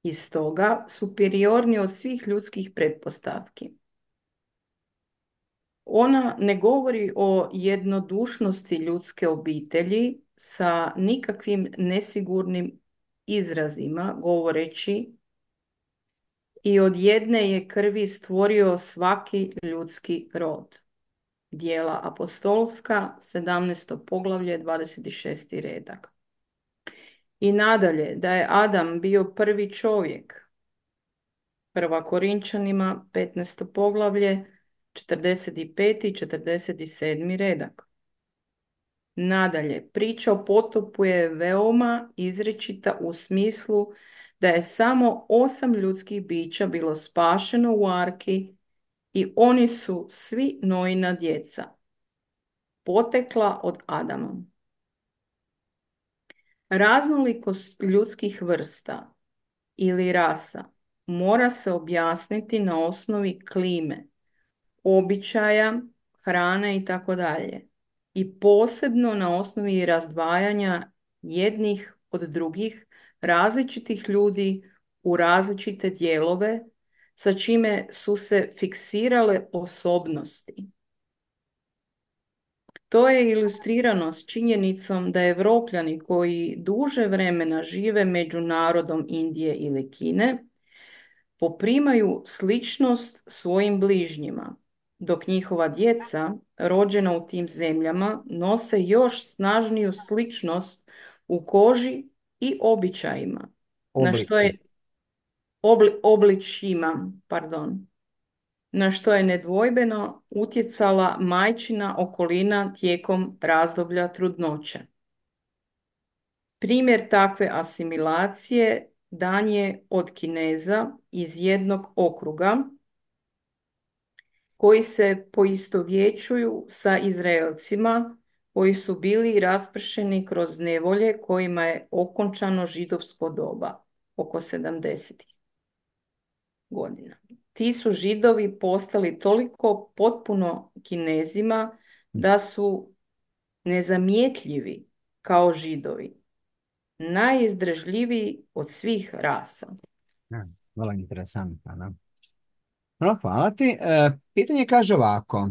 i stoga superiorni od svih ljudskih pretpostavki. Ona ne govori o jednodušnosti ljudske obitelji sa nikakvim nesigurnim izrazima, govoreći i od jedne je krvi stvorio svaki ljudski rod. Djela apostolska, 17. poglavlje, 26. redak. I nadalje, da je Adam bio prvi čovjek. Prva Korinčanima, 15. poglavlje, 45. i 47. redak. Nadalje, priča o potopu je veoma izričita u smislu da je samo 8 ljudskih bića bilo spašeno u arki i oni su svi Noina djeca, potekla od Adama. Raznolikost ljudskih vrsta ili rasa mora se objasniti na osnovi klime, običaja, hrane i tako dalje. I posebno na osnovi razdvajanja jednih od drugih različitih ljudi u različite dijelove, sa čime su se fiksirale osobnosti. To je ilustrirano s činjenicom da Evropljani koji duže vremena žive među narodom Indije ili Kine poprimaju sličnost svojim bližnjima, dok njihova djeca rođena u tim zemljama nose još snažniju sličnost u koži i običajima, na što je obličjima, pardon, na što je nedvojbeno utjecala majčina okolina tijekom razdoblja trudnoće. Primjer takve asimilacije dan je od Kineza iz jednog okruga koji se poistovjećuju sa Izraelcima koji su bili raspršeni kroz nevolje kojima je okončano židovsko doba oko 70. godina. Ti su Židovi postali toliko potpuno Kinezima da su nezamjetljivi kao Židovi, najizdržljiviji od svih rasa. Vrlo interesantno. Da? No, hvala ti. Pitanje kaže ovako.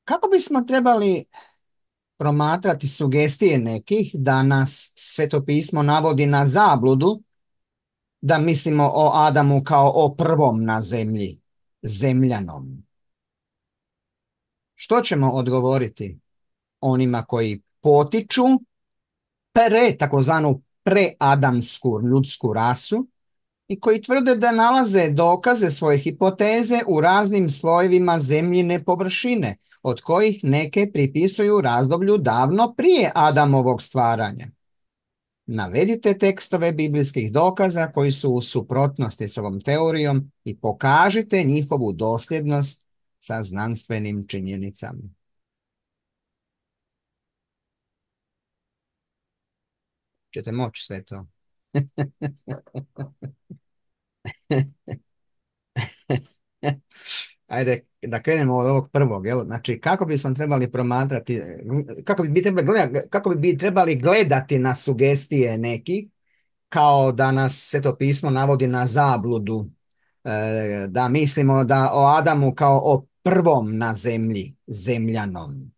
Kako bismo trebali promatrati sugestije nekih da nas Sveto pismo navodi na zabludu, da mislimo o Adamu kao o prvom na zemlji, zemljanom? Što ćemo odgovoriti onima koji potiču takozvanu preadamsku ljudsku rasu i koji tvrde da nalaze dokaze svoje hipoteze u raznim slojevima zemljine površine, od kojih neke pripisuju razdoblju davno prije Adamovog stvaranja? Navedite tekstove biblijskih dokaza koji su u suprotnosti s ovom teorijom i pokažite njihovu dosljednost sa znanstvenim činjenicama. Ćete moći sve to. Ajde, da krenemo od ovog prvog. Jel? Znači, kako bismo trebali promatrati, kako bi trebali gledati na sugestije nekih, kao da nas Sveto pismo navodi na zabludu, da mislimo da o Adamu kao o prvom na zemlji, zemljanom.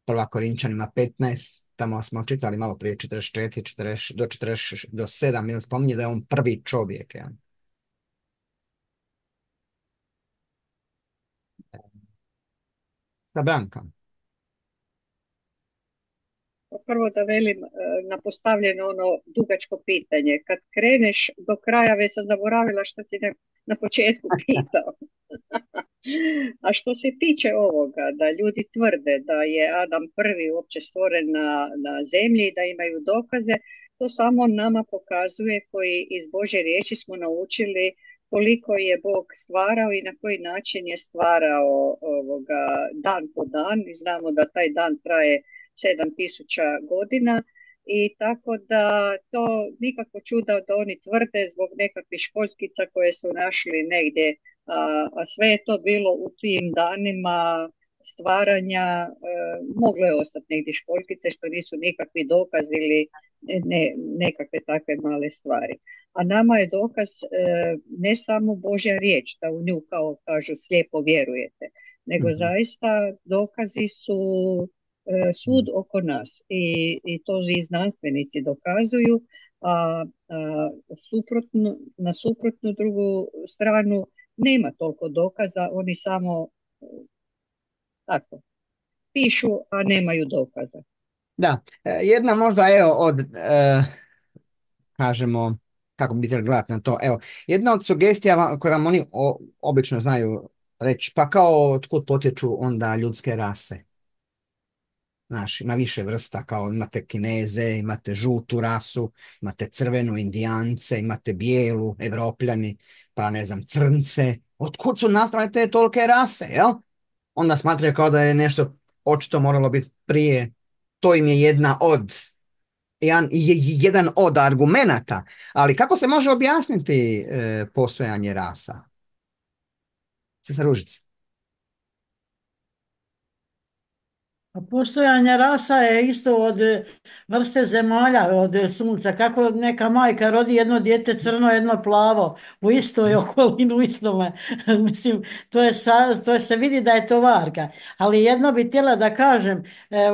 1. Korinčanima 15, tamo smo čitali malo prije 44, 40, do 40, do 7, ili spominje da je on prvi čovjek. Ja. Sa Branka. Prvo da velim na postavljeno ono dugačko pitanje. Kad kreneš do kraja, već sam zaboravila što si na početku pitao. A što se tiče ovoga, da ljudi tvrde da je Adam prvi uopće stvoren na zemlji i da imaju dokaze, to samo nama pokazuje koji iz Božje riječi smo naučili koliko je Bog stvarao i na koji način je stvarao ovoga dan po dan. I znamo da taj dan traje 7000 godina. I tako da to nikako čuda da oni tvrde zbog nekakvih školjskica koje su našli negdje, a sve je to bilo u tim danima stvaranja, moglo je ostati negdje školjkice što nisu nikakvi dokaz ili nekakve takve male stvari. A nama je dokaz ne samo Božja riječ, da u nju kao kažu slijepo vjerujete, nego zaista dokazi su sud oko nas i to i znanstvenici dokazuju, a na suprotnu drugu stranu nema toliko dokaza, oni samo tako pišu, a nemaju dokaza. Da, jedna možda od kažemo, kako bi trebali gledati na to, jedna od sugestija koje vam oni obično znaju reći, pa kao otkud potječu onda ljudske rase. Znaš, ima više vrsta, kao imate Kineze, imate žutu rasu, imate crvenu Indijance, imate bijelu, Evropljani, pa ne znam, crnce. Otkud su nastale te tolike rase, jel? Onda smatraju kao da je nešto očito moralo biti prije. To im je jedan od argumenata. Ali kako se može objasniti postojanje rasa? Sestra Ružica. A postojanje rasa je isto od vrste zemalja, od sunca. Kako neka majka rodi jedno dijete crno, jedno plavo, u istoj okolini, u istome. Mislim, to se vidi da je to varka. Ali jedno bi htjela da kažem,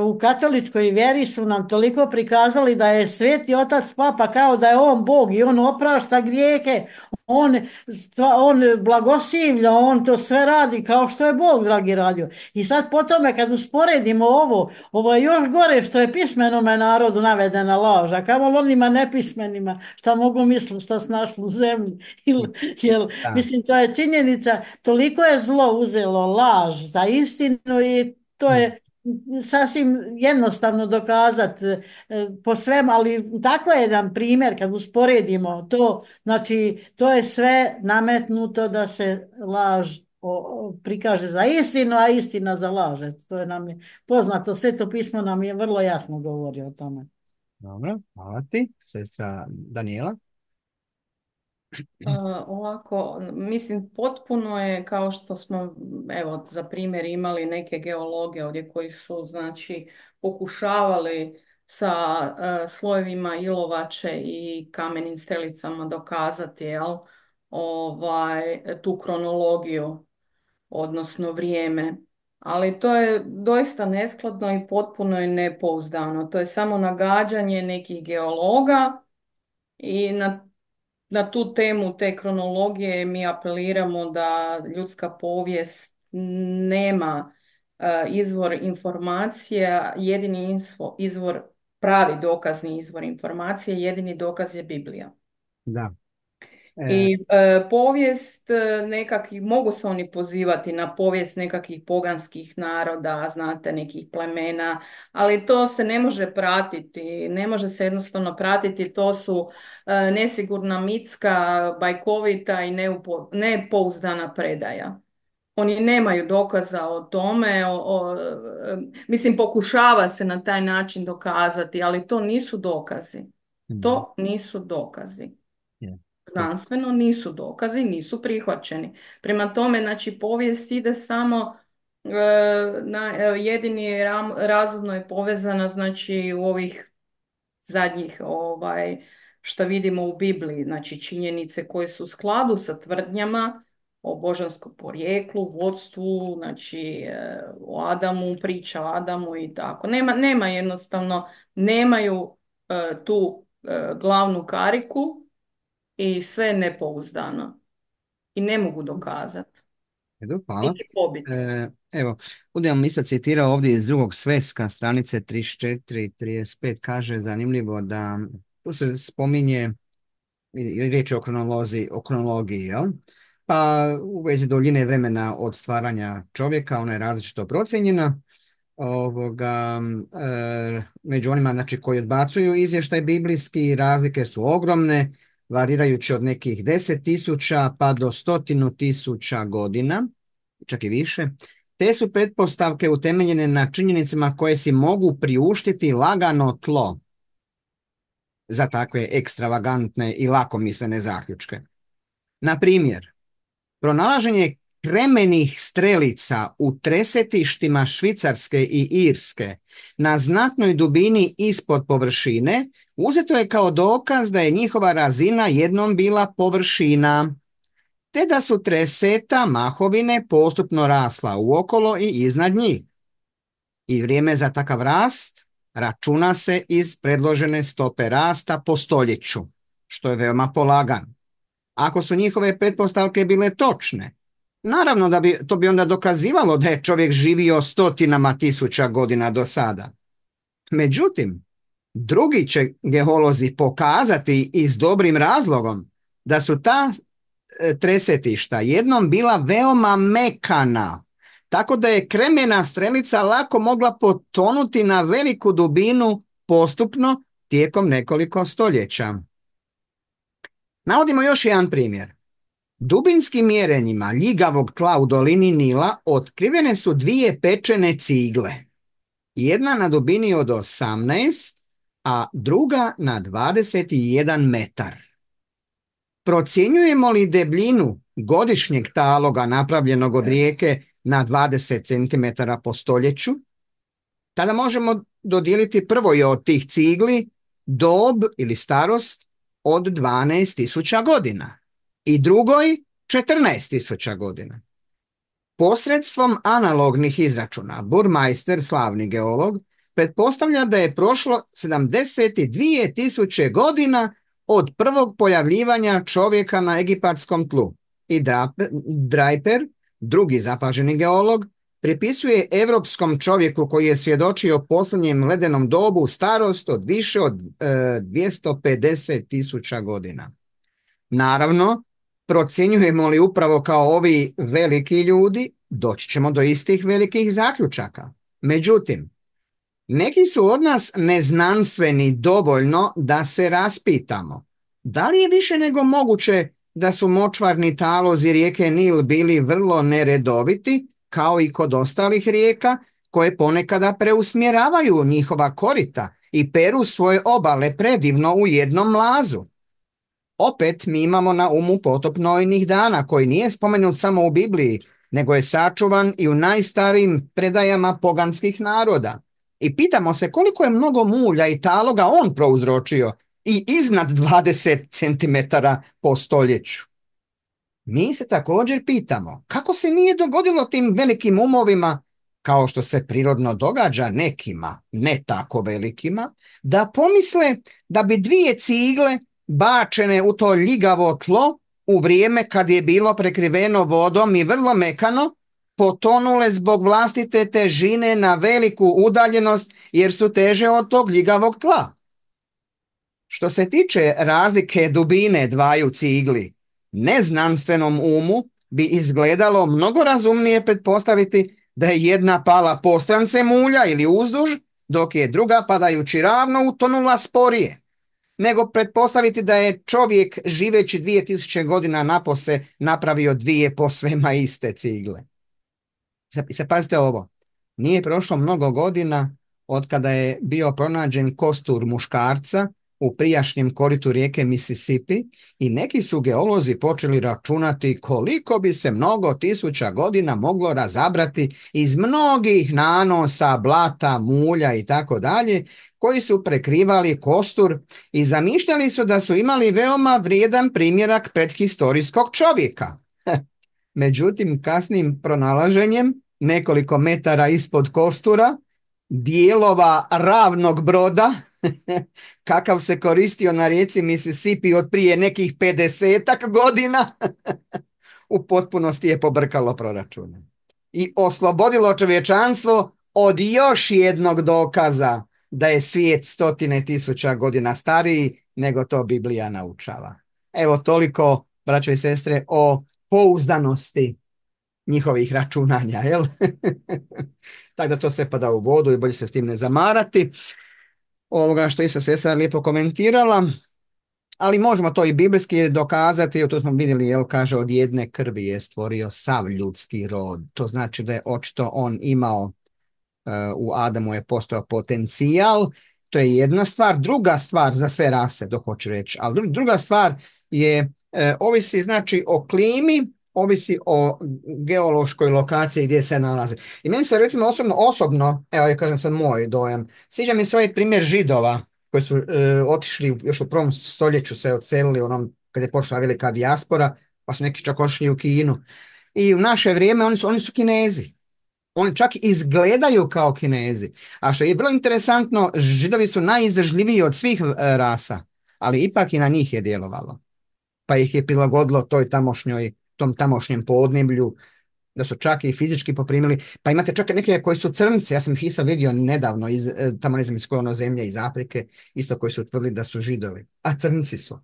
u katoličkoj vjeri su nam toliko prikazali da je Sveti Otac Papa kao da je on Bog i on oprašta grijehe, on blagosilja, on to sve radi kao što je Bog, dragi radio. I sad po tome kad usporedimo ovo je još gore što je pismenome narodu navedena laž, a kamoli onima nepismenima šta mogu misliti šta se našlo u zemlji. Da. Mislim, to je činjenica, toliko je zlo uzelo laž za istinu i to je sasvim jednostavno dokazati po svem, ali tako je jedan primjer kad usporedimo to, znači to je sve nametnuto da se laž prikaže za istinu, a istina za laž. To je nam je poznato, Sveto pismo nam je vrlo jasno govori o tome. Dobro, hvala ti, sestra Daniela. Ovako, mislim, potpuno je kao što smo, evo, za primjer imali neke geologe ovdje koji su, znači, pokušavali sa slojevima ilovače i kamenim strelicama dokazati, jel, tu kronologiju, odnosno vrijeme. Ali to je doista neskladno i potpuno je nepouzdano. To je samo nagađanje nekih geologa i na tu temu te kronologije mi apeliramo da ljudska povijest nema izvor informacija, jedini izvor, pravi dokazni izvor informacije, jedini dokaz je Biblija. Da. I povijest nekakvih, mogu se oni pozivati na povijest nekakvih poganskih naroda, znate, nekih plemena, ali to se ne može pratiti, ne može se jednostavno pratiti, to su nesigurna mitska, bajkovita i nepouzdana predaja. Oni nemaju dokaza o tome, mislim, pokušava se na taj način dokazati, ali to nisu dokazi. To nisu dokazi. Znanstveno nisu dokazi, nisu prihvaćeni. Prema tome, znači, povijest ide samo jedini razumno je povezana, znači, u ovih zadnjih što vidimo u Bibliji, znači činjenice koje su u skladu sa tvrdnjama o božanskom porijeklu, vodstvu, znači o Adamu, priča o Adamu i tako. Nema jednostavno, nemaju tu glavnu kariku i sve je nepouzdano i ne mogu dokazati. Hvala. Pobiti. Evo, budem mi sad citirao ovdje iz Drugog sveska, stranice 34 i 35, kaže zanimljivo da tu se spominje riječ o kronologiji, jel? Pa u vezi duljine vremena od stvaranja čovjeka, ona je različito procijenjena. Među onima, znači, koji odbacuju izvještaj biblijski, razlike su ogromne, varirajući od nekih 10.000 pa do 100.000 godina, čak i više. Te su pretpostavke utemeljene na činjenicama koje si mogu priuštiti lagano tlo za takve ekstravagantne i lakomislene zaključke. Na primjer, pronalaženje kremenih strelica u tresetištima Švicarske i Irske na znatnoj dubini ispod površine uzeto je kao dokaz da je njihova razina jednom bila površina, te da su treseta mahovine postupno rasla uokolo i iznad njih. I vrijeme za takav rast računa se iz predložene stope rasta po stoljeću, što je veoma polagano. Ako su njihove pretpostavke bile točne, naravno da to bi onda dokazivalo da je čovjek živio 100.000 godina do sada. Međutim, drugi će geolozi pokazati i s dobrim razlogom da su ta tresetišta jednom bila veoma mekana, tako da je kremena strelica lako mogla potonuti na veliku dubinu postupno tijekom nekoliko stoljeća. Navodimo još jedan primjer. Dubinskim mjerenjima ljigavog tla u dolini Nila otkrivene su dvije pečene cigle. Jedna na dubini od 18, a druga na 21 metar. Procjenjujemo li debljinu godišnjeg taloga napravljenog od rijeke na 20 cm po stoljeću, tada možemo dodijeliti prvoj od tih cigli dob ili starost od 12.000 godina i drugoj 14.000 godina. Posredstvom analognih izračuna, Burmeister, slavni geolog, pretpostavlja da je prošlo 72.000 godina od prvog pojavljivanja čovjeka na egipatskom tlu. I Draper, drugi zapaženi geolog, pripisuje evropskom čovjeku koji je svjedočio posljednjem ledenom dobu starost od više od 250.000 godina. Naravno, procjenjujemo li upravo kao ovi veliki ljudi, doći ćemo do istih velikih zaključaka. Međutim, neki su od nas neznanstveni dovoljno da se raspitamo. Da li je više nego moguće da su močvarni talozi rijeke Nil bili vrlo neredoviti, kao i kod ostalih rijeka, koje ponekada preusmjeravaju njihova korita i peru svoje obale predivno u jednom mlazu? Opet mi imamo na umu potop Noinih dana, koji nije spomenut samo u Bibliji, nego je sačuvan i u najstarijim predajama poganskih naroda. I pitamo se koliko je mnogo mulja i taloga on prouzročio i iznad 20 cm po stoljeću. Mi se također pitamo kako se nije dogodilo tim velikim umovima, kao što se prirodno događa nekima, ne tako velikima, da pomisle da bi dvije cigle bačene u to ljigavo tlo u vrijeme kad je bilo prekriveno vodom i vrlo mekano, potonule zbog vlastite težine na veliku udaljenost jer su teže od tog ljigavog tla. Što se tiče razlike dubine dvaju cigli, neznanstvenom umu bi izgledalo mnogo razumnije pretpostaviti da je jedna pala postrance mulja ili uzduž, dok je druga padajući ravno utonula sporije, nego pretpostaviti da je čovjek živeći 2000 godina napose napravio dvije posvema iste cigle. Se pazite ovo, nije prošlo mnogo godina od kada je bio pronađen kostur muškarca u prijašnjem koritu rijeke Mississippi i neki su geolozi počeli računati koliko bi se mnogo tisuća godina moglo razabrati iz mnogih nanosa, blata, mulja i tako dalje, koji su prekrivali kostur i zamišljali su da su imali veoma vrijedan primjerak predhistorijskog čovjeka. Međutim, kasnim pronalaženjem nekoliko metara ispod kostura dijelova ravnog broda kakav se koristio na rijeci Mississippi od prije nekih 50 godina u potpunosti je pobrkalo proračune i oslobodilo čovječanstvo od još jednog dokaza da je svijet 100.000 godina stariji nego to Biblija naučava. Evo toliko, braćo i sestre, o pouzdanosti njihovih računanja, jel? Tako da to sve pada u vodu i bolje se s tim ne zamarati. Ovoga što isto sestra lijepo komentirala, ali možemo to i biblijski dokazati, to smo vidjeli, jel, kaže od jedne krvi je stvorio sav ljudski rod. To znači da je očito on imao, u Adamu je postojao potencijal, to je jedna stvar. Druga stvar za sve rase, to hoću reći, ali druga stvar je, ovisi znači o klimi, ovisi o geološkoj lokaciji gdje se nalazi. I meni se recimo osobno, evo ja kažem sad moj dojam, sviđa mi se ovaj primjer Židova koji su otišli još u 1. stoljeću, se odselili onom kad je počela velika dijaspora, pa su neki čak otišli u Kinu. I u naše vrijeme oni su Kinezi. Oni čak izgledaju kao Kinezi. A što je bilo interesantno, Židovi su najizdržljiviji od svih rasa, ali ipak i na njih je djelovalo. Pa ih je prilagodilo tom tamošnjem podneblju, da su čak i fizički poprimili. Pa imate čak neke koji su crnci, ja sam ih isto vidio nedavno, tamo ne znam iz koje ono zemlje, iz Afrike, isto koji su utvrdili da su Židovi. A crnci su.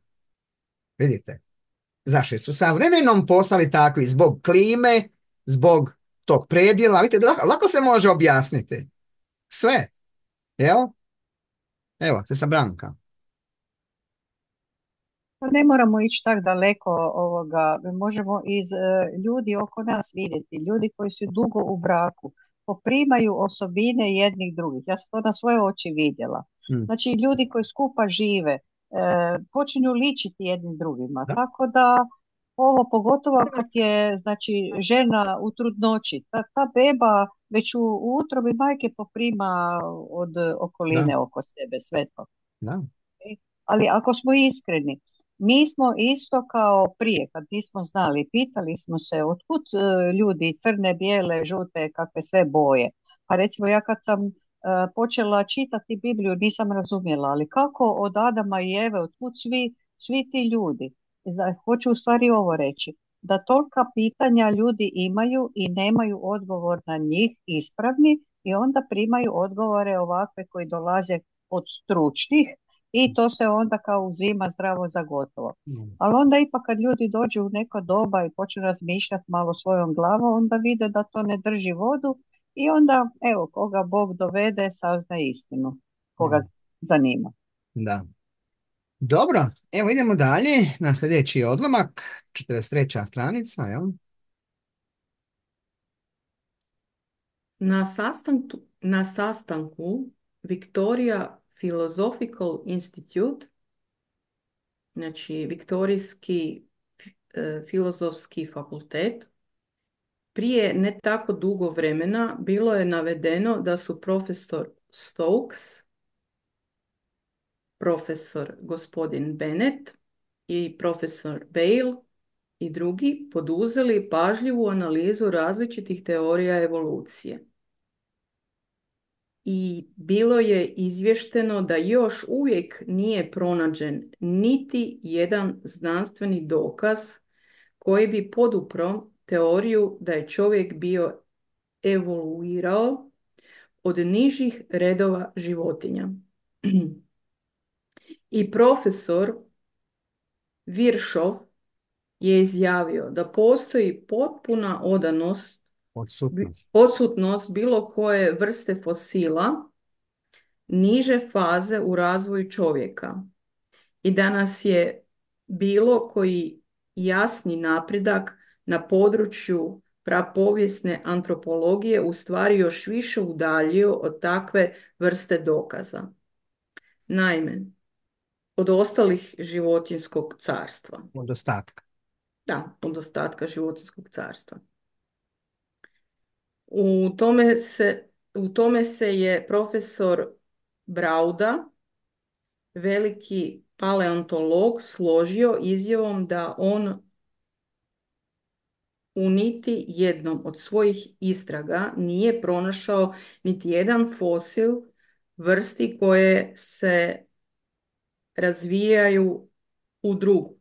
Vidite? Zašto su sa vremenom postali takvi? Zbog klime, zbog tog predjela, vidite, lako se može objasniti. Sve. Evo, se sa Branka. Pa ne moramo ići tako daleko ovoga, možemo iz ljudi oko nas vidjeti, ljudi koji su dugo u braku, poprimaju osobine jednih drugih. Ja sam to na svoje oči vidjela. Mm. Znači ljudi koji skupa žive, počinju ličiti jednim drugima. Da. Tako da ovo pogotovo kad je znači žena u trudnoći, ta beba već u utrobi majke poprima od okoline Da. oko sebe sve to. Da. Ali ako smo iskreni, mi smo isto kao prije, kad nismo znali, pitali smo se otkud ljudi crne, bijele, žute, kakve sve boje. Pa recimo ja kad sam počela čitati Bibliju nisam razumjela, ali kako od Adama i Eve, otkud svi ti ljudi? Hoću u stvari ovo reći, da tolika pitanja ljudi imaju i nemaju odgovor na njih ispravni i onda primaju odgovore ovakve koji dolaze od stručnih i to se onda kao uzima zdravo za gotovo. Mm. Ali onda ipak kad ljudi dođu u neko doba i počnu razmišljati malo svojom glavom, onda vide da to ne drži vodu i onda, evo, koga Bog dovede, sazna istinu, koga zanima. Da. Dobro, evo idemo dalje na sljedeći odlomak, 43. stranica, jel? Na sastanku Victoria Philosophical Institute, znači Viktorijski filozofski fakultet, prije ne tako dugo vremena bilo je navedeno da su profesor Stokes, profesor gospodin Bennett i profesor Bale i drugi poduzeli pažljivu analizu različitih teorija evolucije. I bilo je izvješteno da još uvijek nije pronađen niti jedan znanstveni dokaz koji bi podupro teoriju da je čovjek bio evoluirao od nižih redova životinja. I profesor Viršov je izjavio da postoji potpuna odsutnost bilo koje vrste fosila niže faze u razvoju čovjeka i da nas je bilo koji jasni napredak na području prapovijesne antropologije u stvari još više udaljio od takve vrste dokaza. Naime, od ostalih životinjskog carstva. Od ostatka. Da, od ostatka životinjskog carstva. U tome se je profesor Brauda, veliki paleontolog, složio izjavom da on u niti jednom od svojih istraga nije pronašao niti jedan fosil vrsti koje se razvijaju u drugu.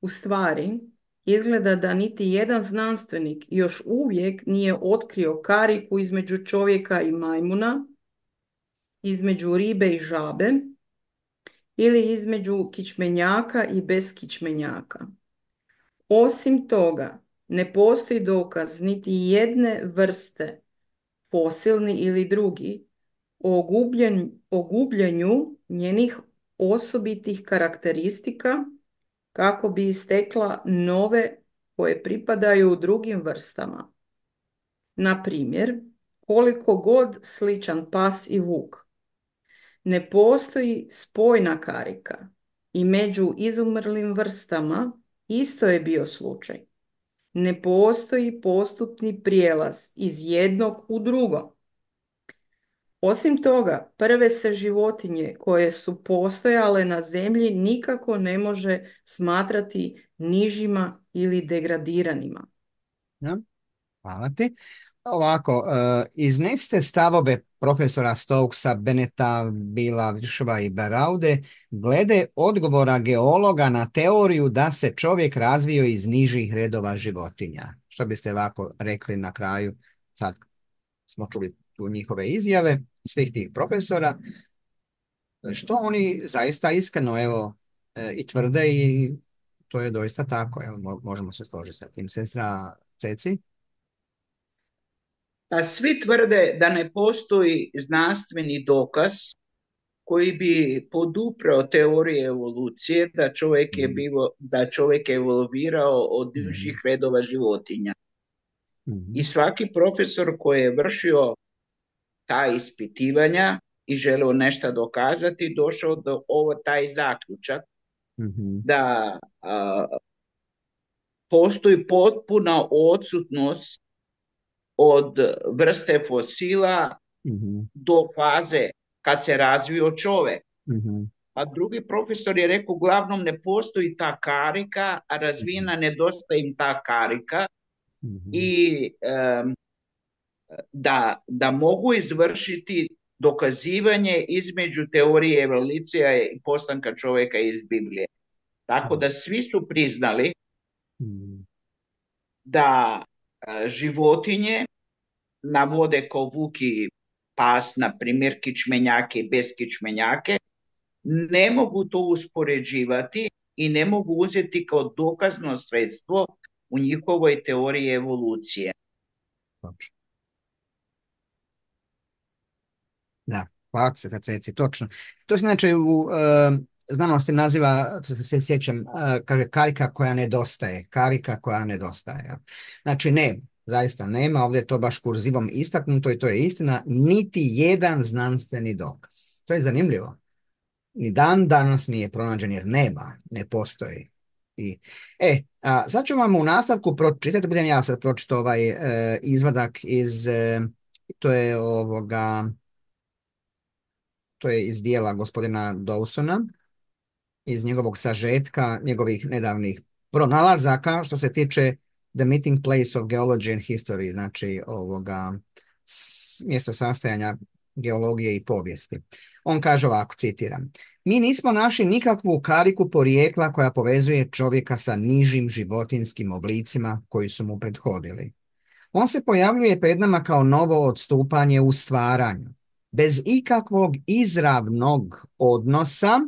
U stvari, izgleda da niti jedan znanstvenik još uvijek nije otkrio kariku između čovjeka i majmuna, između ribe i žabe ili između kičmenjaka i beskičmenjaka. Osim toga, ne postoji dokaz niti jedne vrste, fosilni ili drugi, o gubljenju njenih osobitih karakteristika kako bi istekla nove koje pripadaju drugim vrstama. Na primjer, koliko god sličan pas i vuk, ne postoji spojna karika i među izumrlim vrstama isto je bio slučaj. Ne postoji postupni prijelaz iz jednog u drugo. Osim toga, prve se životinje koje su postojale na zemlji nikako ne može smatrati nižima ili degradiranima. Ja, hvala ti. Ovako, iznesite stavove profesora Stokesa, Beneta, Bila, Viršova i Beraude glede odgovora geologa na teoriju da se čovjek razvio iz nižih redova životinja. Što biste ovako rekli na kraju? Sad smo čuli tu njihove izjave svih tih profesora. Što oni zaista iskreno i tvrde i to je doista tako. Možemo se složiti sa tim. Sestra Ceci? A svi tvrde da ne postoji znanstveni dokaz koji bi poduprao teorije evolucije da čovjek je evoluirao od divljih redova životinja. I svaki profesor koji je vršio ta ispitivanja i želeo nešto dokazati, došao do taj zaključak da postoji potpuna odsutnost od vrste fosila do faze kad se razvio čovjek. A drugi profesor je rekao, uglavnom ne postoji ta karika, a razvijena nedostaje im ta karika i da mogu izvršiti dokazivanje između teorije evolucije i postanka čovjeka iz Biblije. Tako da svi su priznali da životinje navode kao vuk i pas, na primjer kičmenjake i beskičmenjake, ne mogu to uspoređivati i ne mogu uzeti kao dokazno sredstvo u njihovoj teoriji evolucije. Točno. Da, hvala se, Ceci, točno. To se znači u znanosti naziva, to se sjećam, kaže karika koja nedostaje. Karika koja nedostaje. Ja. Znači nema, zaista nema, ovdje je to baš kurzivom istaknuto i to je istina, niti jedan znanstveni dokaz. To je zanimljivo. Ni dan danas nije pronađen jer nema, ne postoji. Sad ću vam u nastavku pročitati, budem ja sad pročitao ovaj izvadak iz, to je iz dijela gospodina Dawsona, iz njegovog sažetka, njegovih nedavnih pronalazaka što se tiče The Meeting Place of Geology and History, znači mjesto sastajanja geologije i povijesti. On kaže ovako, citiram: mi nismo našli nikakvu kariku porijekla koja povezuje čovjeka sa nižim životinjskim oblicima koji su mu prethodili. On se pojavljuje pred nama kao novo odstupanje u stvaranju, bez ikakvog izravnog odnosa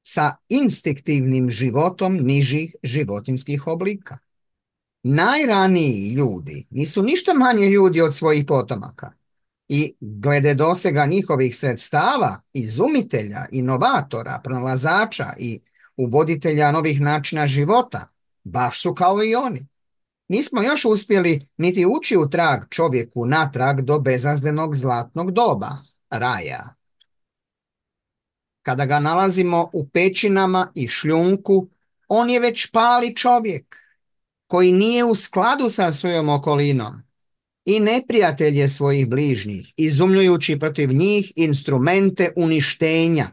sa instinktivnim životom nižih životinjskih oblika. Najraniji ljudi nisu ništa manje ljudi od svojih potomaka i glede dosega njihovih sredstava, izumitelja, inovatora, pronalazača i uvoditelja novih načina života, baš su kao i oni. Nismo još uspjeli niti ući u trag čovjeku natrag do bezazlenog zlatnog doba, raja. Kada ga nalazimo u pećinama i šljunku, on je već pali čovjek koji nije u skladu sa svojom okolinom i neprijatelj je svojih bližnjih, izumljujući protiv njih instrumente uništenja,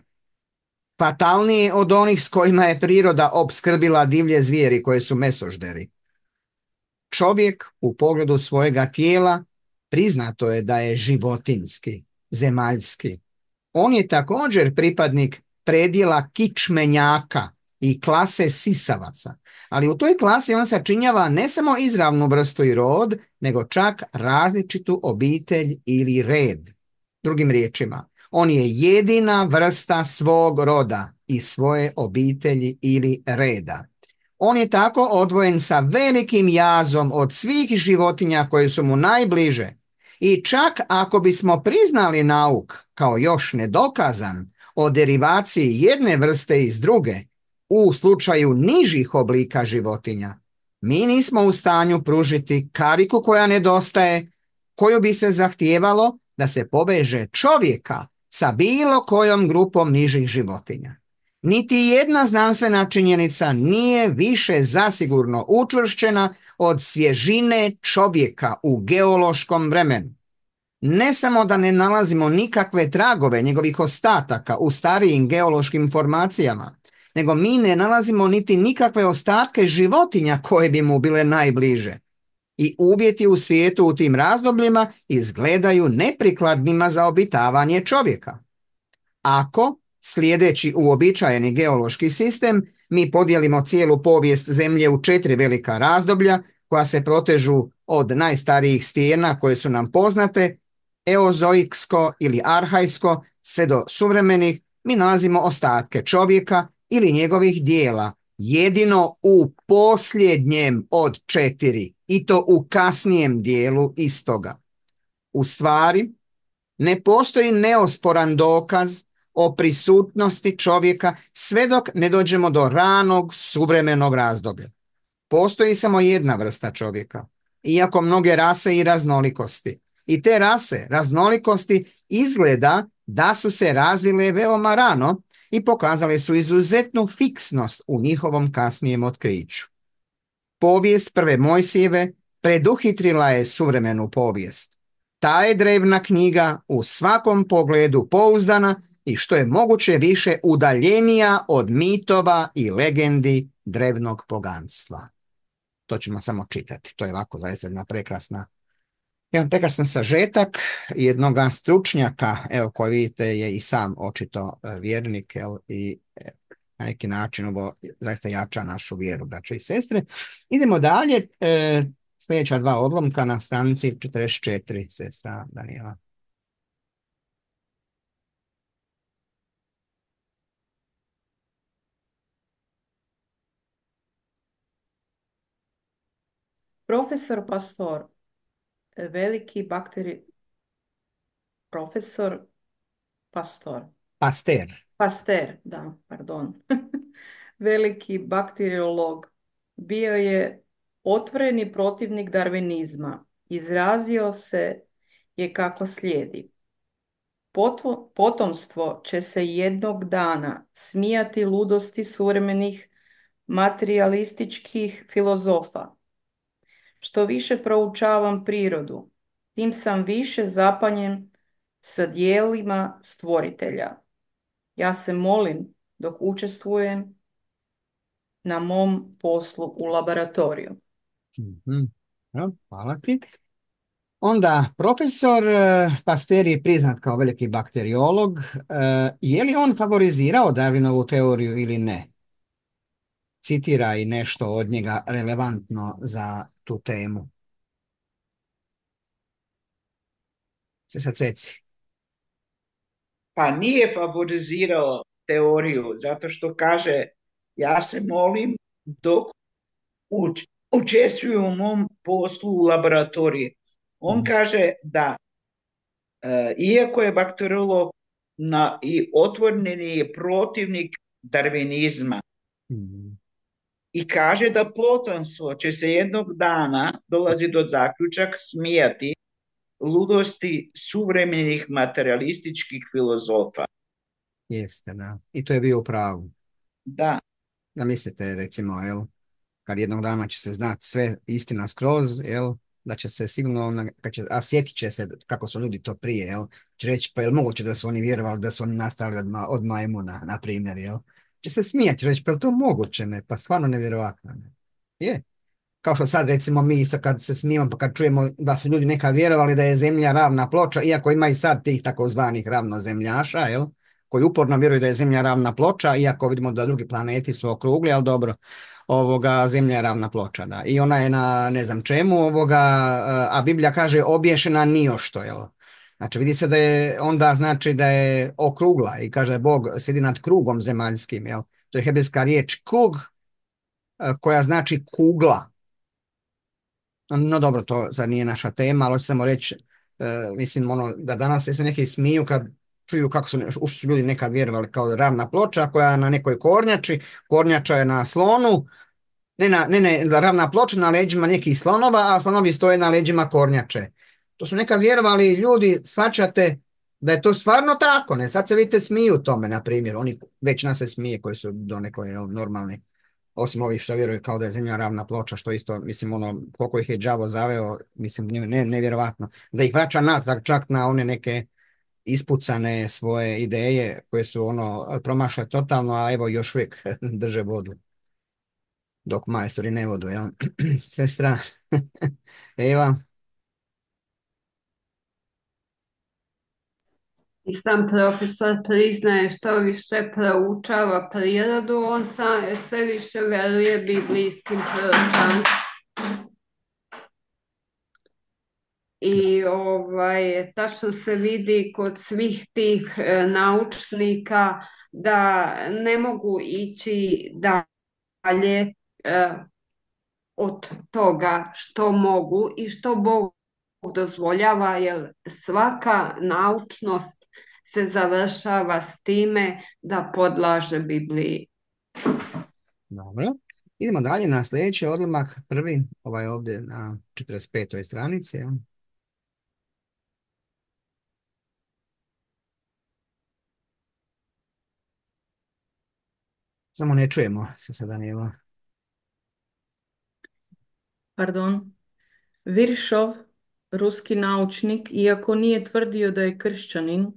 fatalnije od onih s kojima je priroda opskrbila divlje zvijeri koje su mesožderi. Čovjek u pogledu svojega tijela priznato je da je životinjski, zemaljski. On je također pripadnik predjela kičmenjaka i klase sisavaca, ali u toj klasi on sačinjava ne samo izravnu vrstu i rod, nego čak različitu obitelj ili red. Drugim riječima, on je jedina vrsta svog roda i svoje obitelji ili reda. On je tako odvojen sa velikim jazom od svih životinja koje su mu najbliže. I čak ako bismo priznali nauk kao još nedokazan o derivaciji jedne vrste iz druge, u slučaju nižih oblika životinja, mi nismo u stanju pružiti kariku koja nedostaje, koju bi se zahtijevalo da se poveže čovjeka sa bilo kojom grupom nižih životinja. Niti jedna znanstvena činjenica nije više zasigurno učvršćena od svježine čovjeka u geološkom vremenu. Ne samo da ne nalazimo nikakve tragove njegovih ostataka u starijim geološkim formacijama, nego mi ne nalazimo niti nikakve ostatke životinja koje bi mu bile najbliže. I uvjeti u svijetu u tim razdobljima izgledaju neprikladnima za obitavanje čovjeka. Ako, slijedeći uobičajeni geološki sistem, mi podijelimo cijelu povijest Zemlje u 4 velika razdoblja koja se protežu od najstarijih stijena koje su nam poznate, eozoiksko ili arhajsko, sve do suvremenih, mi nalazimo ostatke čovjeka ili njegovih dijela, jedino u posljednjem od 4, i to u kasnijem dijelu istoga. U stvari, ne postoji neosporan dokaz o prisutnosti čovjeka sve dok ne dođemo do ranog suvremenog razdoblja. Postoji samo jedna vrsta čovjeka, iako mnoge rase i raznolikosti. I te rase, raznolikosti, izgleda da su se razvile veoma rano i pokazale su izuzetnu fiksnost u njihovom kasnijem otkriću. Povijest prve Mojsijeve preduhitrila je suvremenu povijest. Ta je drevna knjiga u svakom pogledu pouzdana i što je moguće više udaljenija od mitova i legendi drevnog poganstva. To ćemo samo čitati. To je ovako zaista jedan prekrasan sažetak jednog stručnjaka, evo koji vidite je i sam očito vjernik, i na neki način ovo zaista jača našu vjeru, braćo i sestre. Idemo dalje, sljedeća 2 odlomka na stranici 44, sestra Danijela. Profesor Pastor, veliki profesor Pasteur, da, pardon. Veliki bakteriolog. Bio je otvoreni protivnik darvinizma. Izrazio se je kako slijedi. Potomstvo će se jednog dana smijati ludosti suvremenih materialističkih filozofa. Što više proučavam prirodu, tim sam više zapanjen sa dijelima stvoritelja. Ja se molim dok učestvujem na mom poslu u laboratoriju. Hvala ti. Onda, profesor Pasteur je priznat kao veliki bakteriolog. Je li on favorizirao Darwinovu teoriju ili ne? Citira i nešto od njega relevantno za tu temu. Sad Ceci. Pa nije favorizirao teoriju, zato što kaže, ja se molim dok učestvuju u mom poslu u laboratoriji. On kaže da iako je bakteriolog i otvoreni je protivnik darvinizma, i kaže da potomstvo će se jednog dana, dolazi do zaključak, smijati ludosti suvremenih materialističkih filozofa. Jeste, da. I to je bio u pravu. Da. Da mislite, recimo, kad jednog dana će se znati sve istina skroz, da će se sigurno, a sjetit će se kako su ljudi to prije, će reći, pa je li moguće da su oni vjerovali da su oni nastali od majmuna, na primjer, će se smijati, će reći, pa je li to moguće, ne? Pa stvarno nevjerovatno, ne? Je. Kao što sad recimo mi kad se smijemo pa kad čujemo da su ljudi nekad vjerovali da je zemlja ravna ploča, iako ima i sad tih takozvanih ravnozemljaša, koji uporno vjeruju da je zemlja ravna ploča, iako vidimo da drugi planeti su okrugli, ali dobro, zemlja je ravna ploča, da. I ona je na ne znam čemu, a Biblija kaže obješena nijošto, Znači vidi se da je onda znači da je okrugla i kaže Bog sjedi nad krugom zemaljskim, To je hebrejska riječ kug, koja znači kugla. No dobro, to sad nije naša tema, ali hoću samo reći, mislim, da danas se neki smiju kad čuju kako su ljudi nekad vjerovali kao ravna ploča koja je na nekoj kornjači, kornjača je na slonu, ne, ravna ploča na leđima nekih slonova, a slonovi stoje na leđima kornjače. To su nekad vjerovali ljudi, shvaćate da je to stvarno tako, ne? Sad se vidite smiju tome, na primjer, oni već nas se smije koji su donekle normalni. Osim ovih što vjeruju kao da je zemlja ravna ploča, što isto, mislim, koliko ih je đavo zaveo, mislim, nevjerovatno. Da ih vraća natrag čak na one neke ispucane svoje ideje koje su promašle totalno, a evo još uvijek drže vodu. Dok majstori ne vodu, jel? Sestra, Eva. I sam profesor priznaje što više proučava prirodu, on sve više veruje biblijskim proročanstvima. I tačno se vidi kod svih tih naučnika da ne mogu ići dalje od toga što mogu i što Bog dozvoljava, jer svaka naučnost se završava s time da podlaže Bibliji. Dobro. Idemo dalje na sljedeći odlomak, prvi, ovaj ovdje na 45. stranici. Ja. Samo ne čujemo se sa Danila. Pardon. Viršov, ruski naučnik, iako nije tvrdio da je kršćanin,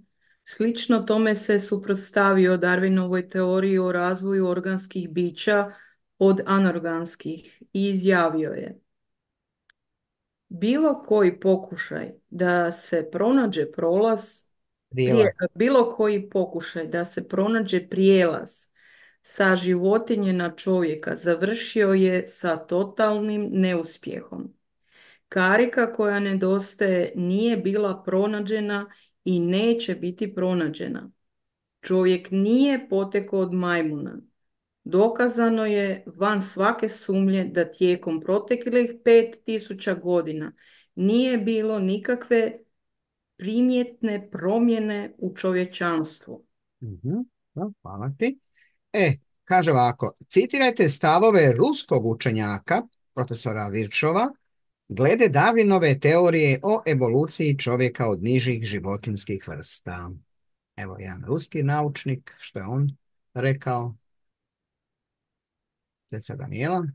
slično tome se suprotstavio Darwinovoj teoriji o razvoju organskih bića od anorganskih i izjavio je: bilo koji pokušaj da se pronađe bilo koji pokušaj da se pronađe prijelaz sa životinje na čovjeka završio je sa totalnim neuspjehom. Karika koja nedostaje nije bila pronađena i neće biti pronađena. Čovjek nije potekao od majmuna. Dokazano je van svake sumnje da tijekom proteklih 5000 godina nije bilo nikakve primjetne promjene u čovječanstvu. Hvala ti. Kaže ovako, citirajte stavove ruskog učenjaka, profesora Virčova, glede Darwinove teorije o evoluciji čovjeka od nižih životinjskih vrsta. Evo jedan ruski naučnik, što je on rekao? Sestra Danijela.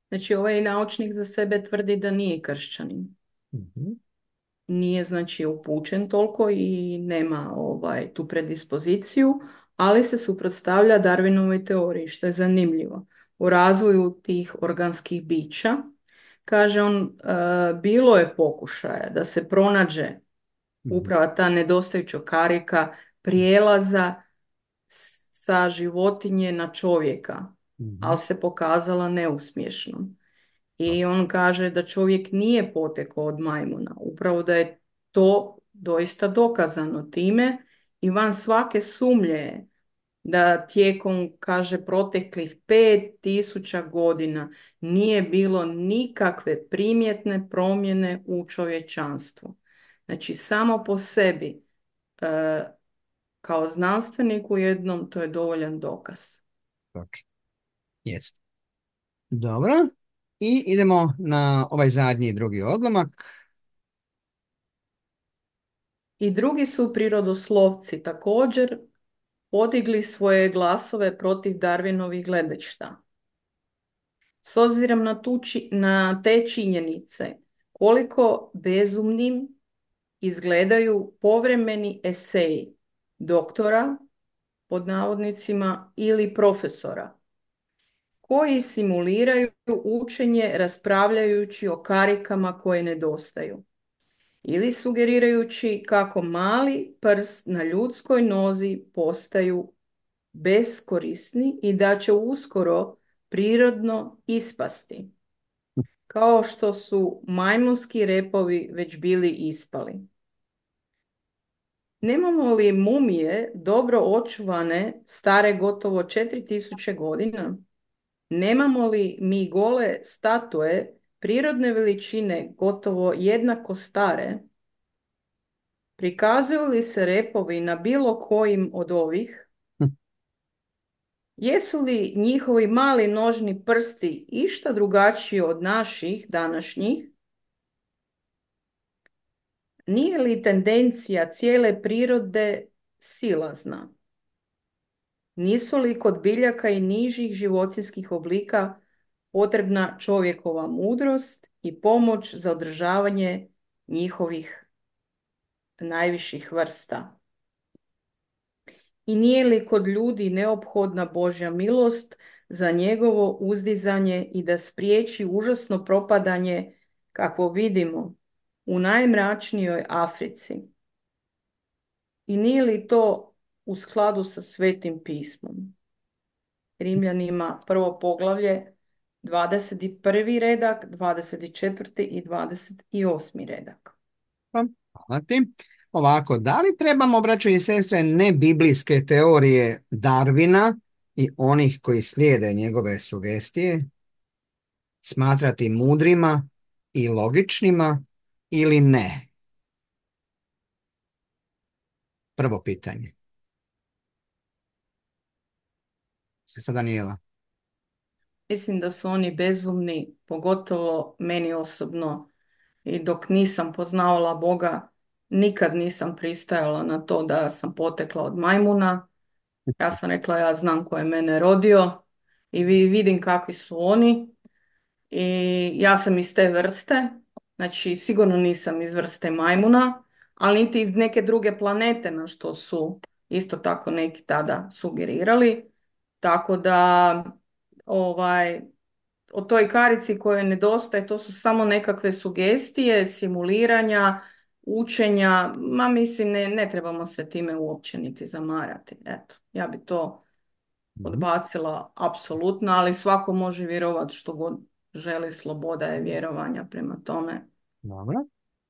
Znači, ovaj naučnik za sebe tvrdi da nije kršćanin. Nije, znači, upućen toliko i nema tu predispoziciju, ali se suprotstavlja Darwinovoj teoriji, što je zanimljivo. U razvoju tih organskih bića, kaže on, bilo je pokušaja da se pronađe upravo ta nedostajuća karika prijelaza sa životinje na čovjeka, ali se pokazala neuspješnom. I on kaže da čovjek nije potekao od majmuna, upravo da je to doista dokazano time i van svake sumnje da tijekom, kaže, proteklih 5000 godina nije bilo nikakve primjetne promjene u čovječanstvu. Znači, samo po sebi, kao znanstvenik u jednom, to je dovoljan dokaz. Točno. Jest. Dobro. I idemo na ovaj zadnji drugi odlomak. I drugi su prirodoslovci također podigli svoje glasove protiv Darwinovih gledišta. S obzirom na te činjenice, koliko bezumnim izgledaju povremeni eseji doktora, pod navodnicima, ili profesora, koji simuliraju učenje raspravljajući o karikama koje nedostaju, ili sugerirajući kako mali prst na ljudskoj nozi postaju beskorisni i da će uskoro prirodno ispasti, kao što su majmunski repovi već bili ispali. Nemamo li mumije dobro očuvane, stare gotovo 4000 godina? Nemamo li mi gole statue prirodne veličine gotovo jednako stare? Prikazuju li se repovi na bilo kojim od ovih? Jesu li njihovi mali nožni prsti išta drugačiji od naših današnjih? Nije li tendencija cijele prirode silazna? Nisu li kod biljaka i nižih životinjskih oblika potrebna čovjekova mudrost i pomoć za održavanje njihovih najviših vrsta? I nije li kod ljudi neophodna Božja milost za njegovo uzdizanje i da spriječi užasno propadanje, kakvo vidimo u najmračnijoj Africi? I nije li to u skladu sa Svetim pismom? Rimljanima 1. poglavlje, 21. redak, 24. i 28. redak. Hvala ti. Ovako, da li trebamo, braćo i sestre, nebiblijske teorije Darwina i onih koji slijede njegove sugestije smatrati mudrima i logičnima ili ne? Prvo pitanje. Sestra Daniela. Mislim da su oni bezumni, pogotovo meni osobno. I dok nisam poznavala Boga, nikad nisam pristajala na to da sam potekla od majmuna. Ja sam rekla, ja znam ko je mene rodio i vidim kakvi su oni. I ja sam iz te vrste, znači sigurno nisam iz vrste majmuna, ali niti iz neke druge planete, na što su isto tako neki tada sugerirali. Tako da o toj karici kojoj nedostaje, to su samo nekakve sugestije, simuliranja, učenja, ma mislim ne trebamo se time uopće niti zamarati. Eto, ja bi to odbacila apsolutno, ali svako može vjerovati što god želi, sloboda je vjerovanja, prema tome. Dobro,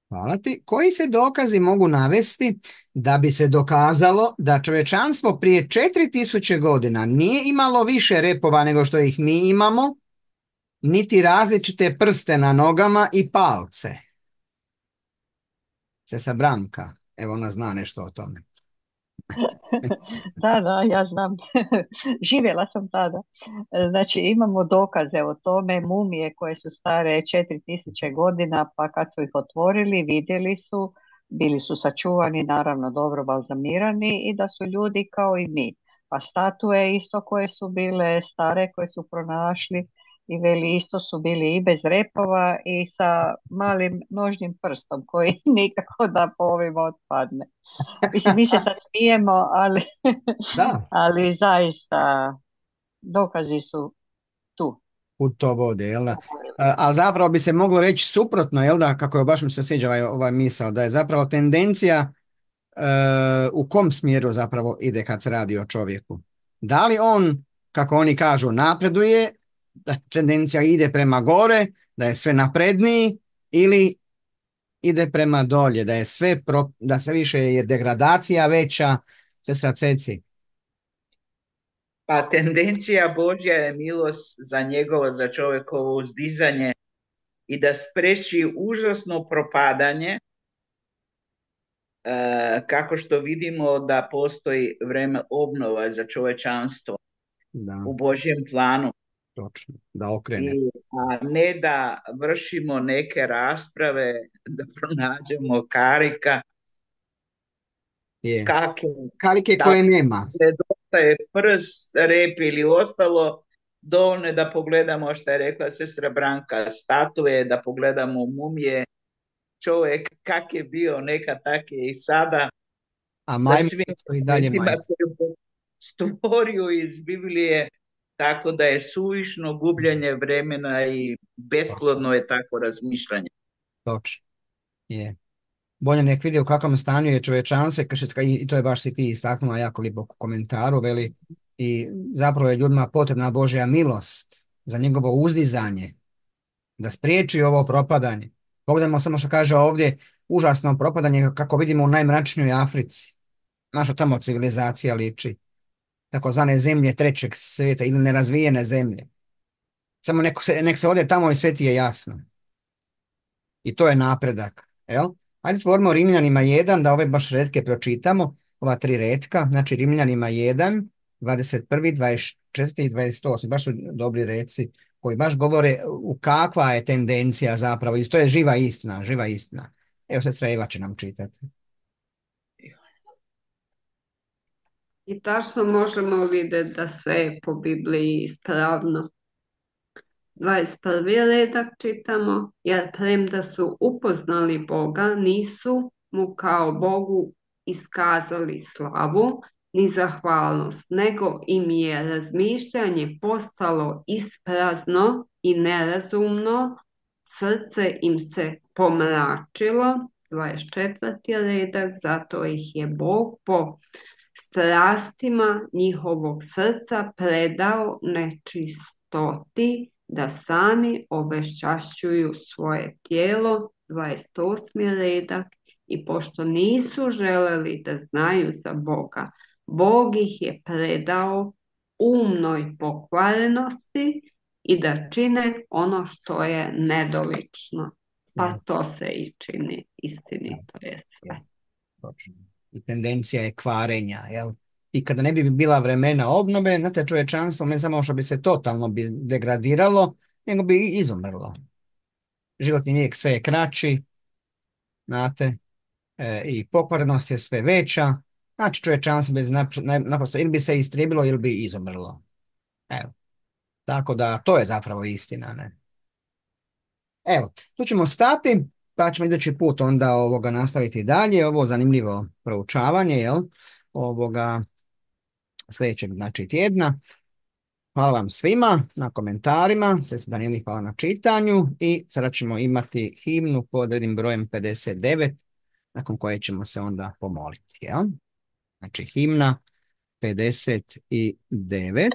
hvala ti. Koji se dokazi mogu navesti da bi se dokazalo da čovječanstvo prije 4000 godina nije imalo više repova nego što ih mi imamo, niti različite prste na nogama i palce? Sestra Branka, evo ona zna nešto o tome. Da, ja znam. Živjela sam tada. Znači, imamo dokaze o tome, mumije koje su stare 4000 godina, pa kad su ih otvorili, vidjeli su, bili su sačuvani, naravno dobro balzamirani i da su ljudi kao i mi. Pa statue isto koje su bile stare, koje su pronašli i veli isto su bili i bez repova i sa malim nožnim prstom koji nikako da po ovim otpadne. Mislim, mi se sad smijemo, Da. ali zaista dokazi su tu. Put to vode, jel da? Ali zapravo bi se moglo reći suprotno, jel da, kako je, baš mi se sviđa ovaj misao, da je zapravo tendencija u kom smjeru zapravo ide kad se radi o čovjeku. Da li on, kako oni kažu, napreduje, da tendencija ide prema gore, da je sve napredniji, ili ide prema dolje, da je da sve više je degradacija veća? Sestra Ceci. Pa tendencija Božja je milost za čovjekovo uzdizanje i da spreči užasno propadanje, kako što vidimo da postoji vreme obnova za čovječanstvo u Božjem planu. Točno, da okrene. A ne da vršimo neke rasprave, da pronađemo karika. Karike koje nema. Nedostaje prst, rep ili ostalo, dovoljno da pogledamo što je rekla sestra Branka, statue, da pogledamo mumije, čovjek kak je bio nekad, tak je i sada. A majmun i dalje majmun. Stvorio iz Biblije, tako da je suvišno gubljenje vremena i besplodno je tako razmišljanje. Točno, je. Bolje nek vidi u kakvom stanju je čovječanstvo i to je baš si ti istaknula jako lijepo u komentaru, veli, i zapravo je ljudima potrebna Božja milost za njegovo uzdizanje, da spriječi ovo propadanje. Pogledajmo samo što kaže ovdje, užasno propadanje kako vidimo u najmračnijoj Africi. Naša tamo civilizacija liči. Takozvane zemlje trećeg svijeta ili nerazvijene zemlje. Samo nek se ode tamo i sve ti je jasno. I to je napredak. Jel? Ajde tvorimo Rimljanima 1, da ove baš retke pročitamo, ova 3 retka, znači Rimljanima 1, 21, 24 i 28, baš su dobri reci koji baš govore u kakva je tendencija zapravo, i to je živa istina, živa istina. Evo sestra Eva će nam čitati. I tačno možemo vidjeti da sve je po Bibliji ispravno. 21. redak čitamo, jer premda su upoznali Boga, nisu mu kao Bogu iskazali slavu ni zahvalnost, nego im je razmišljanje postalo isprazno i nerazumno, srce im se pomračilo. 24. redak, zato ih je Bog po strastima njihovog srca predao nečistoti, da sami obeščašćuju svoje tijelo. 28. redak, i pošto nisu želeli da znaju za Boga, Bog ih je predao umnoj pokvarenosti i da čine ono što je nedolično. Pa to se i čini, istinito je sve. Točno. I tendencija je kvarenja, jel? I kada ne bi bila vremena obnove, znate, čovječanstvo ne samo što bi se totalno degradiralo, nego bi i izumrlo. Životni vijek sve je kraći, znate, i pokvarenost je sve veća, znači čovječanstvo bi naprosto ili bi se istrijebilo ili bi izumrlo. Evo, tako da to je zapravo istina, ne? Evo, tu ćemo stati, pa ćemo idući put onda nastaviti dalje, ovo zanimljivo proučavanje, jel? Sljedećeg, znači, tjedna. Hvala vam svima na komentarima, sestra Danijeli, hvala na čitanju i sada ćemo imati himnu pod rednim brojem 59, nakon koje ćemo se onda pomoliti, jel? Znači, himna 59.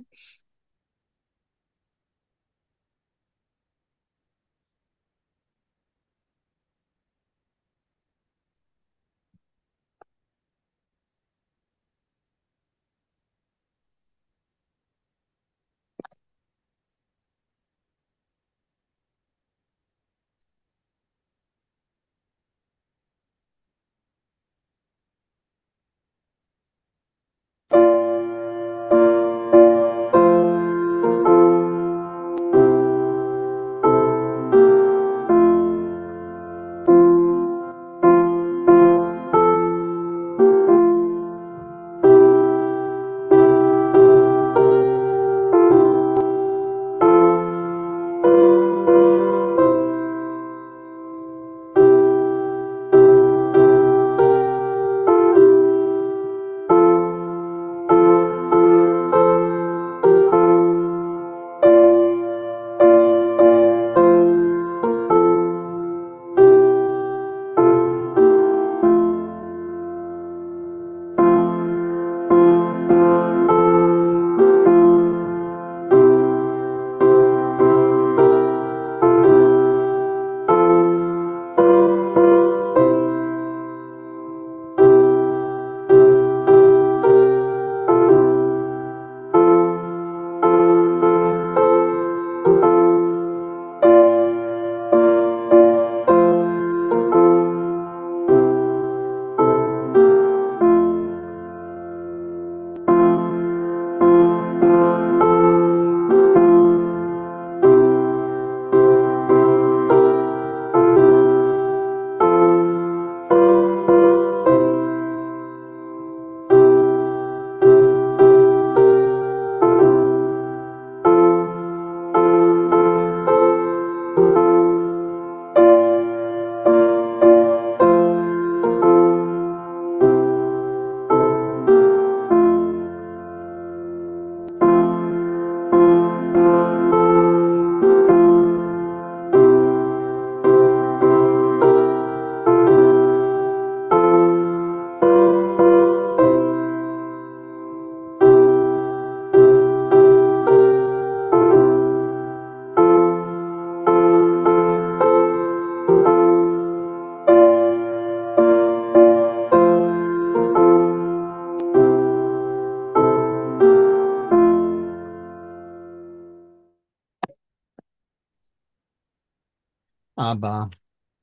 Aba,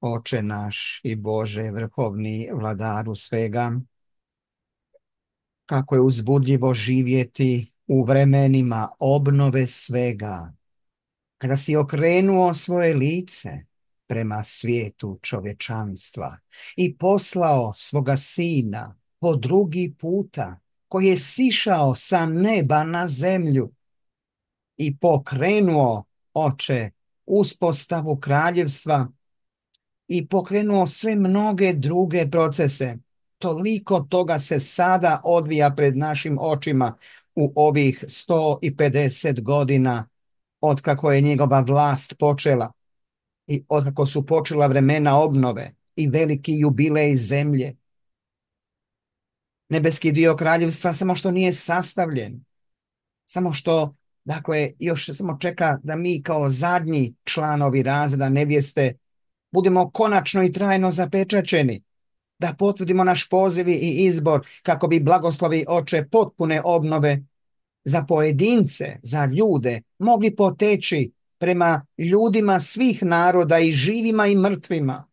Oče naš i Bože, vrhovni vladaru svega, kako je uzbudljivo živjeti u vremenima obnove svega, kada si okrenuo svoje lice prema svijetu čovječanstva i poslao svoga sina po drugi puta, koji je sišao sa neba na zemlju i pokrenuo, Oče, uspostavu kraljevstva i pokrenuo sve mnoge druge procese. Toliko toga se sada odvija pred našim očima u ovih 150 godina otkako je njegova vlast počela i otkako su počela vremena obnove i veliki jubilej zemlje. Nebeski dio kraljevstva samo što nije sastavljen, samo što, dakle, još samo čeka da mi kao zadnji članovi razreda nevjeste budemo konačno i trajno zapečaćeni, da potvrdimo naš poziv i izbor kako bi blagoslovi Oče potpune obnove za pojedince, za ljude, mogli poteći prema ljudima svih naroda i živima i mrtvima.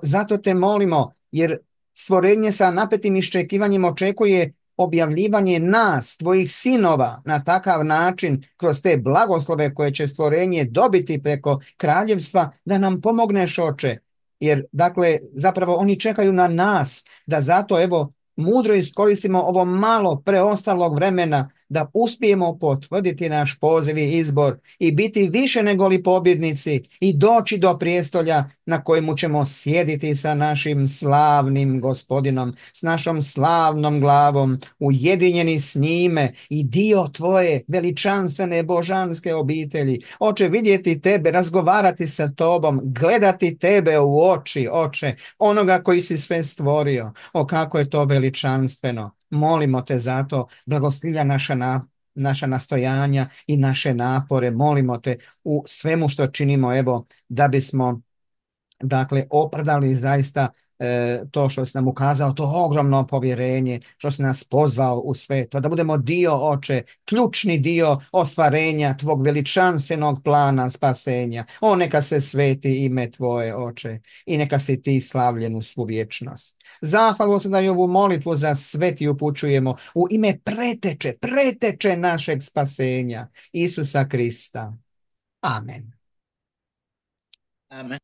Zato te molimo, jer stvorenje sa napetim iščekivanjem očekuje objavljivanje nas, tvojih sinova, na takav način, kroz te blagoslove koje će stvorenje dobiti preko kraljevstva, da nam pomogneš, Oče. Jer, dakle, zapravo oni čekaju na nas, da zato, evo, mudro iskoristimo ovo malo preostalog vremena da uspijemo potvrditi naš poziv i izbor i biti više nego li pobjednici i doći do prijestolja na kojemu ćemo sjediti sa našim slavnim Gospodinom, s našom slavnom glavom, ujedinjeni s njime i dio tvoje veličanstvene božanske obitelji. Oče, vidjeti tebe, razgovarati sa tobom, gledati tebe u oči, Oče, onoga koji si sve stvorio. O, kako je to veličanstveno. Molimo te zato, blagoslivlja naša nastojanja i naše napore. Molimo te u svemu što činimo, evo, da bismo, dakle, opravdali zaista to što si nam ukazao, to ogromno povjerenje, što si nas pozvao u sve to, da budemo dio, Oče, ključni dio ostvarenja tvog veličanstvenog plana spasenja. O, neka se sveti ime tvoje, Oče, i neka si ti slavljen u svu vječnost. Zahvalu se da i ovu molitvu za sve ti upućujemo u ime preteče našeg spasenja, Isusa Krista. Amen. Amen.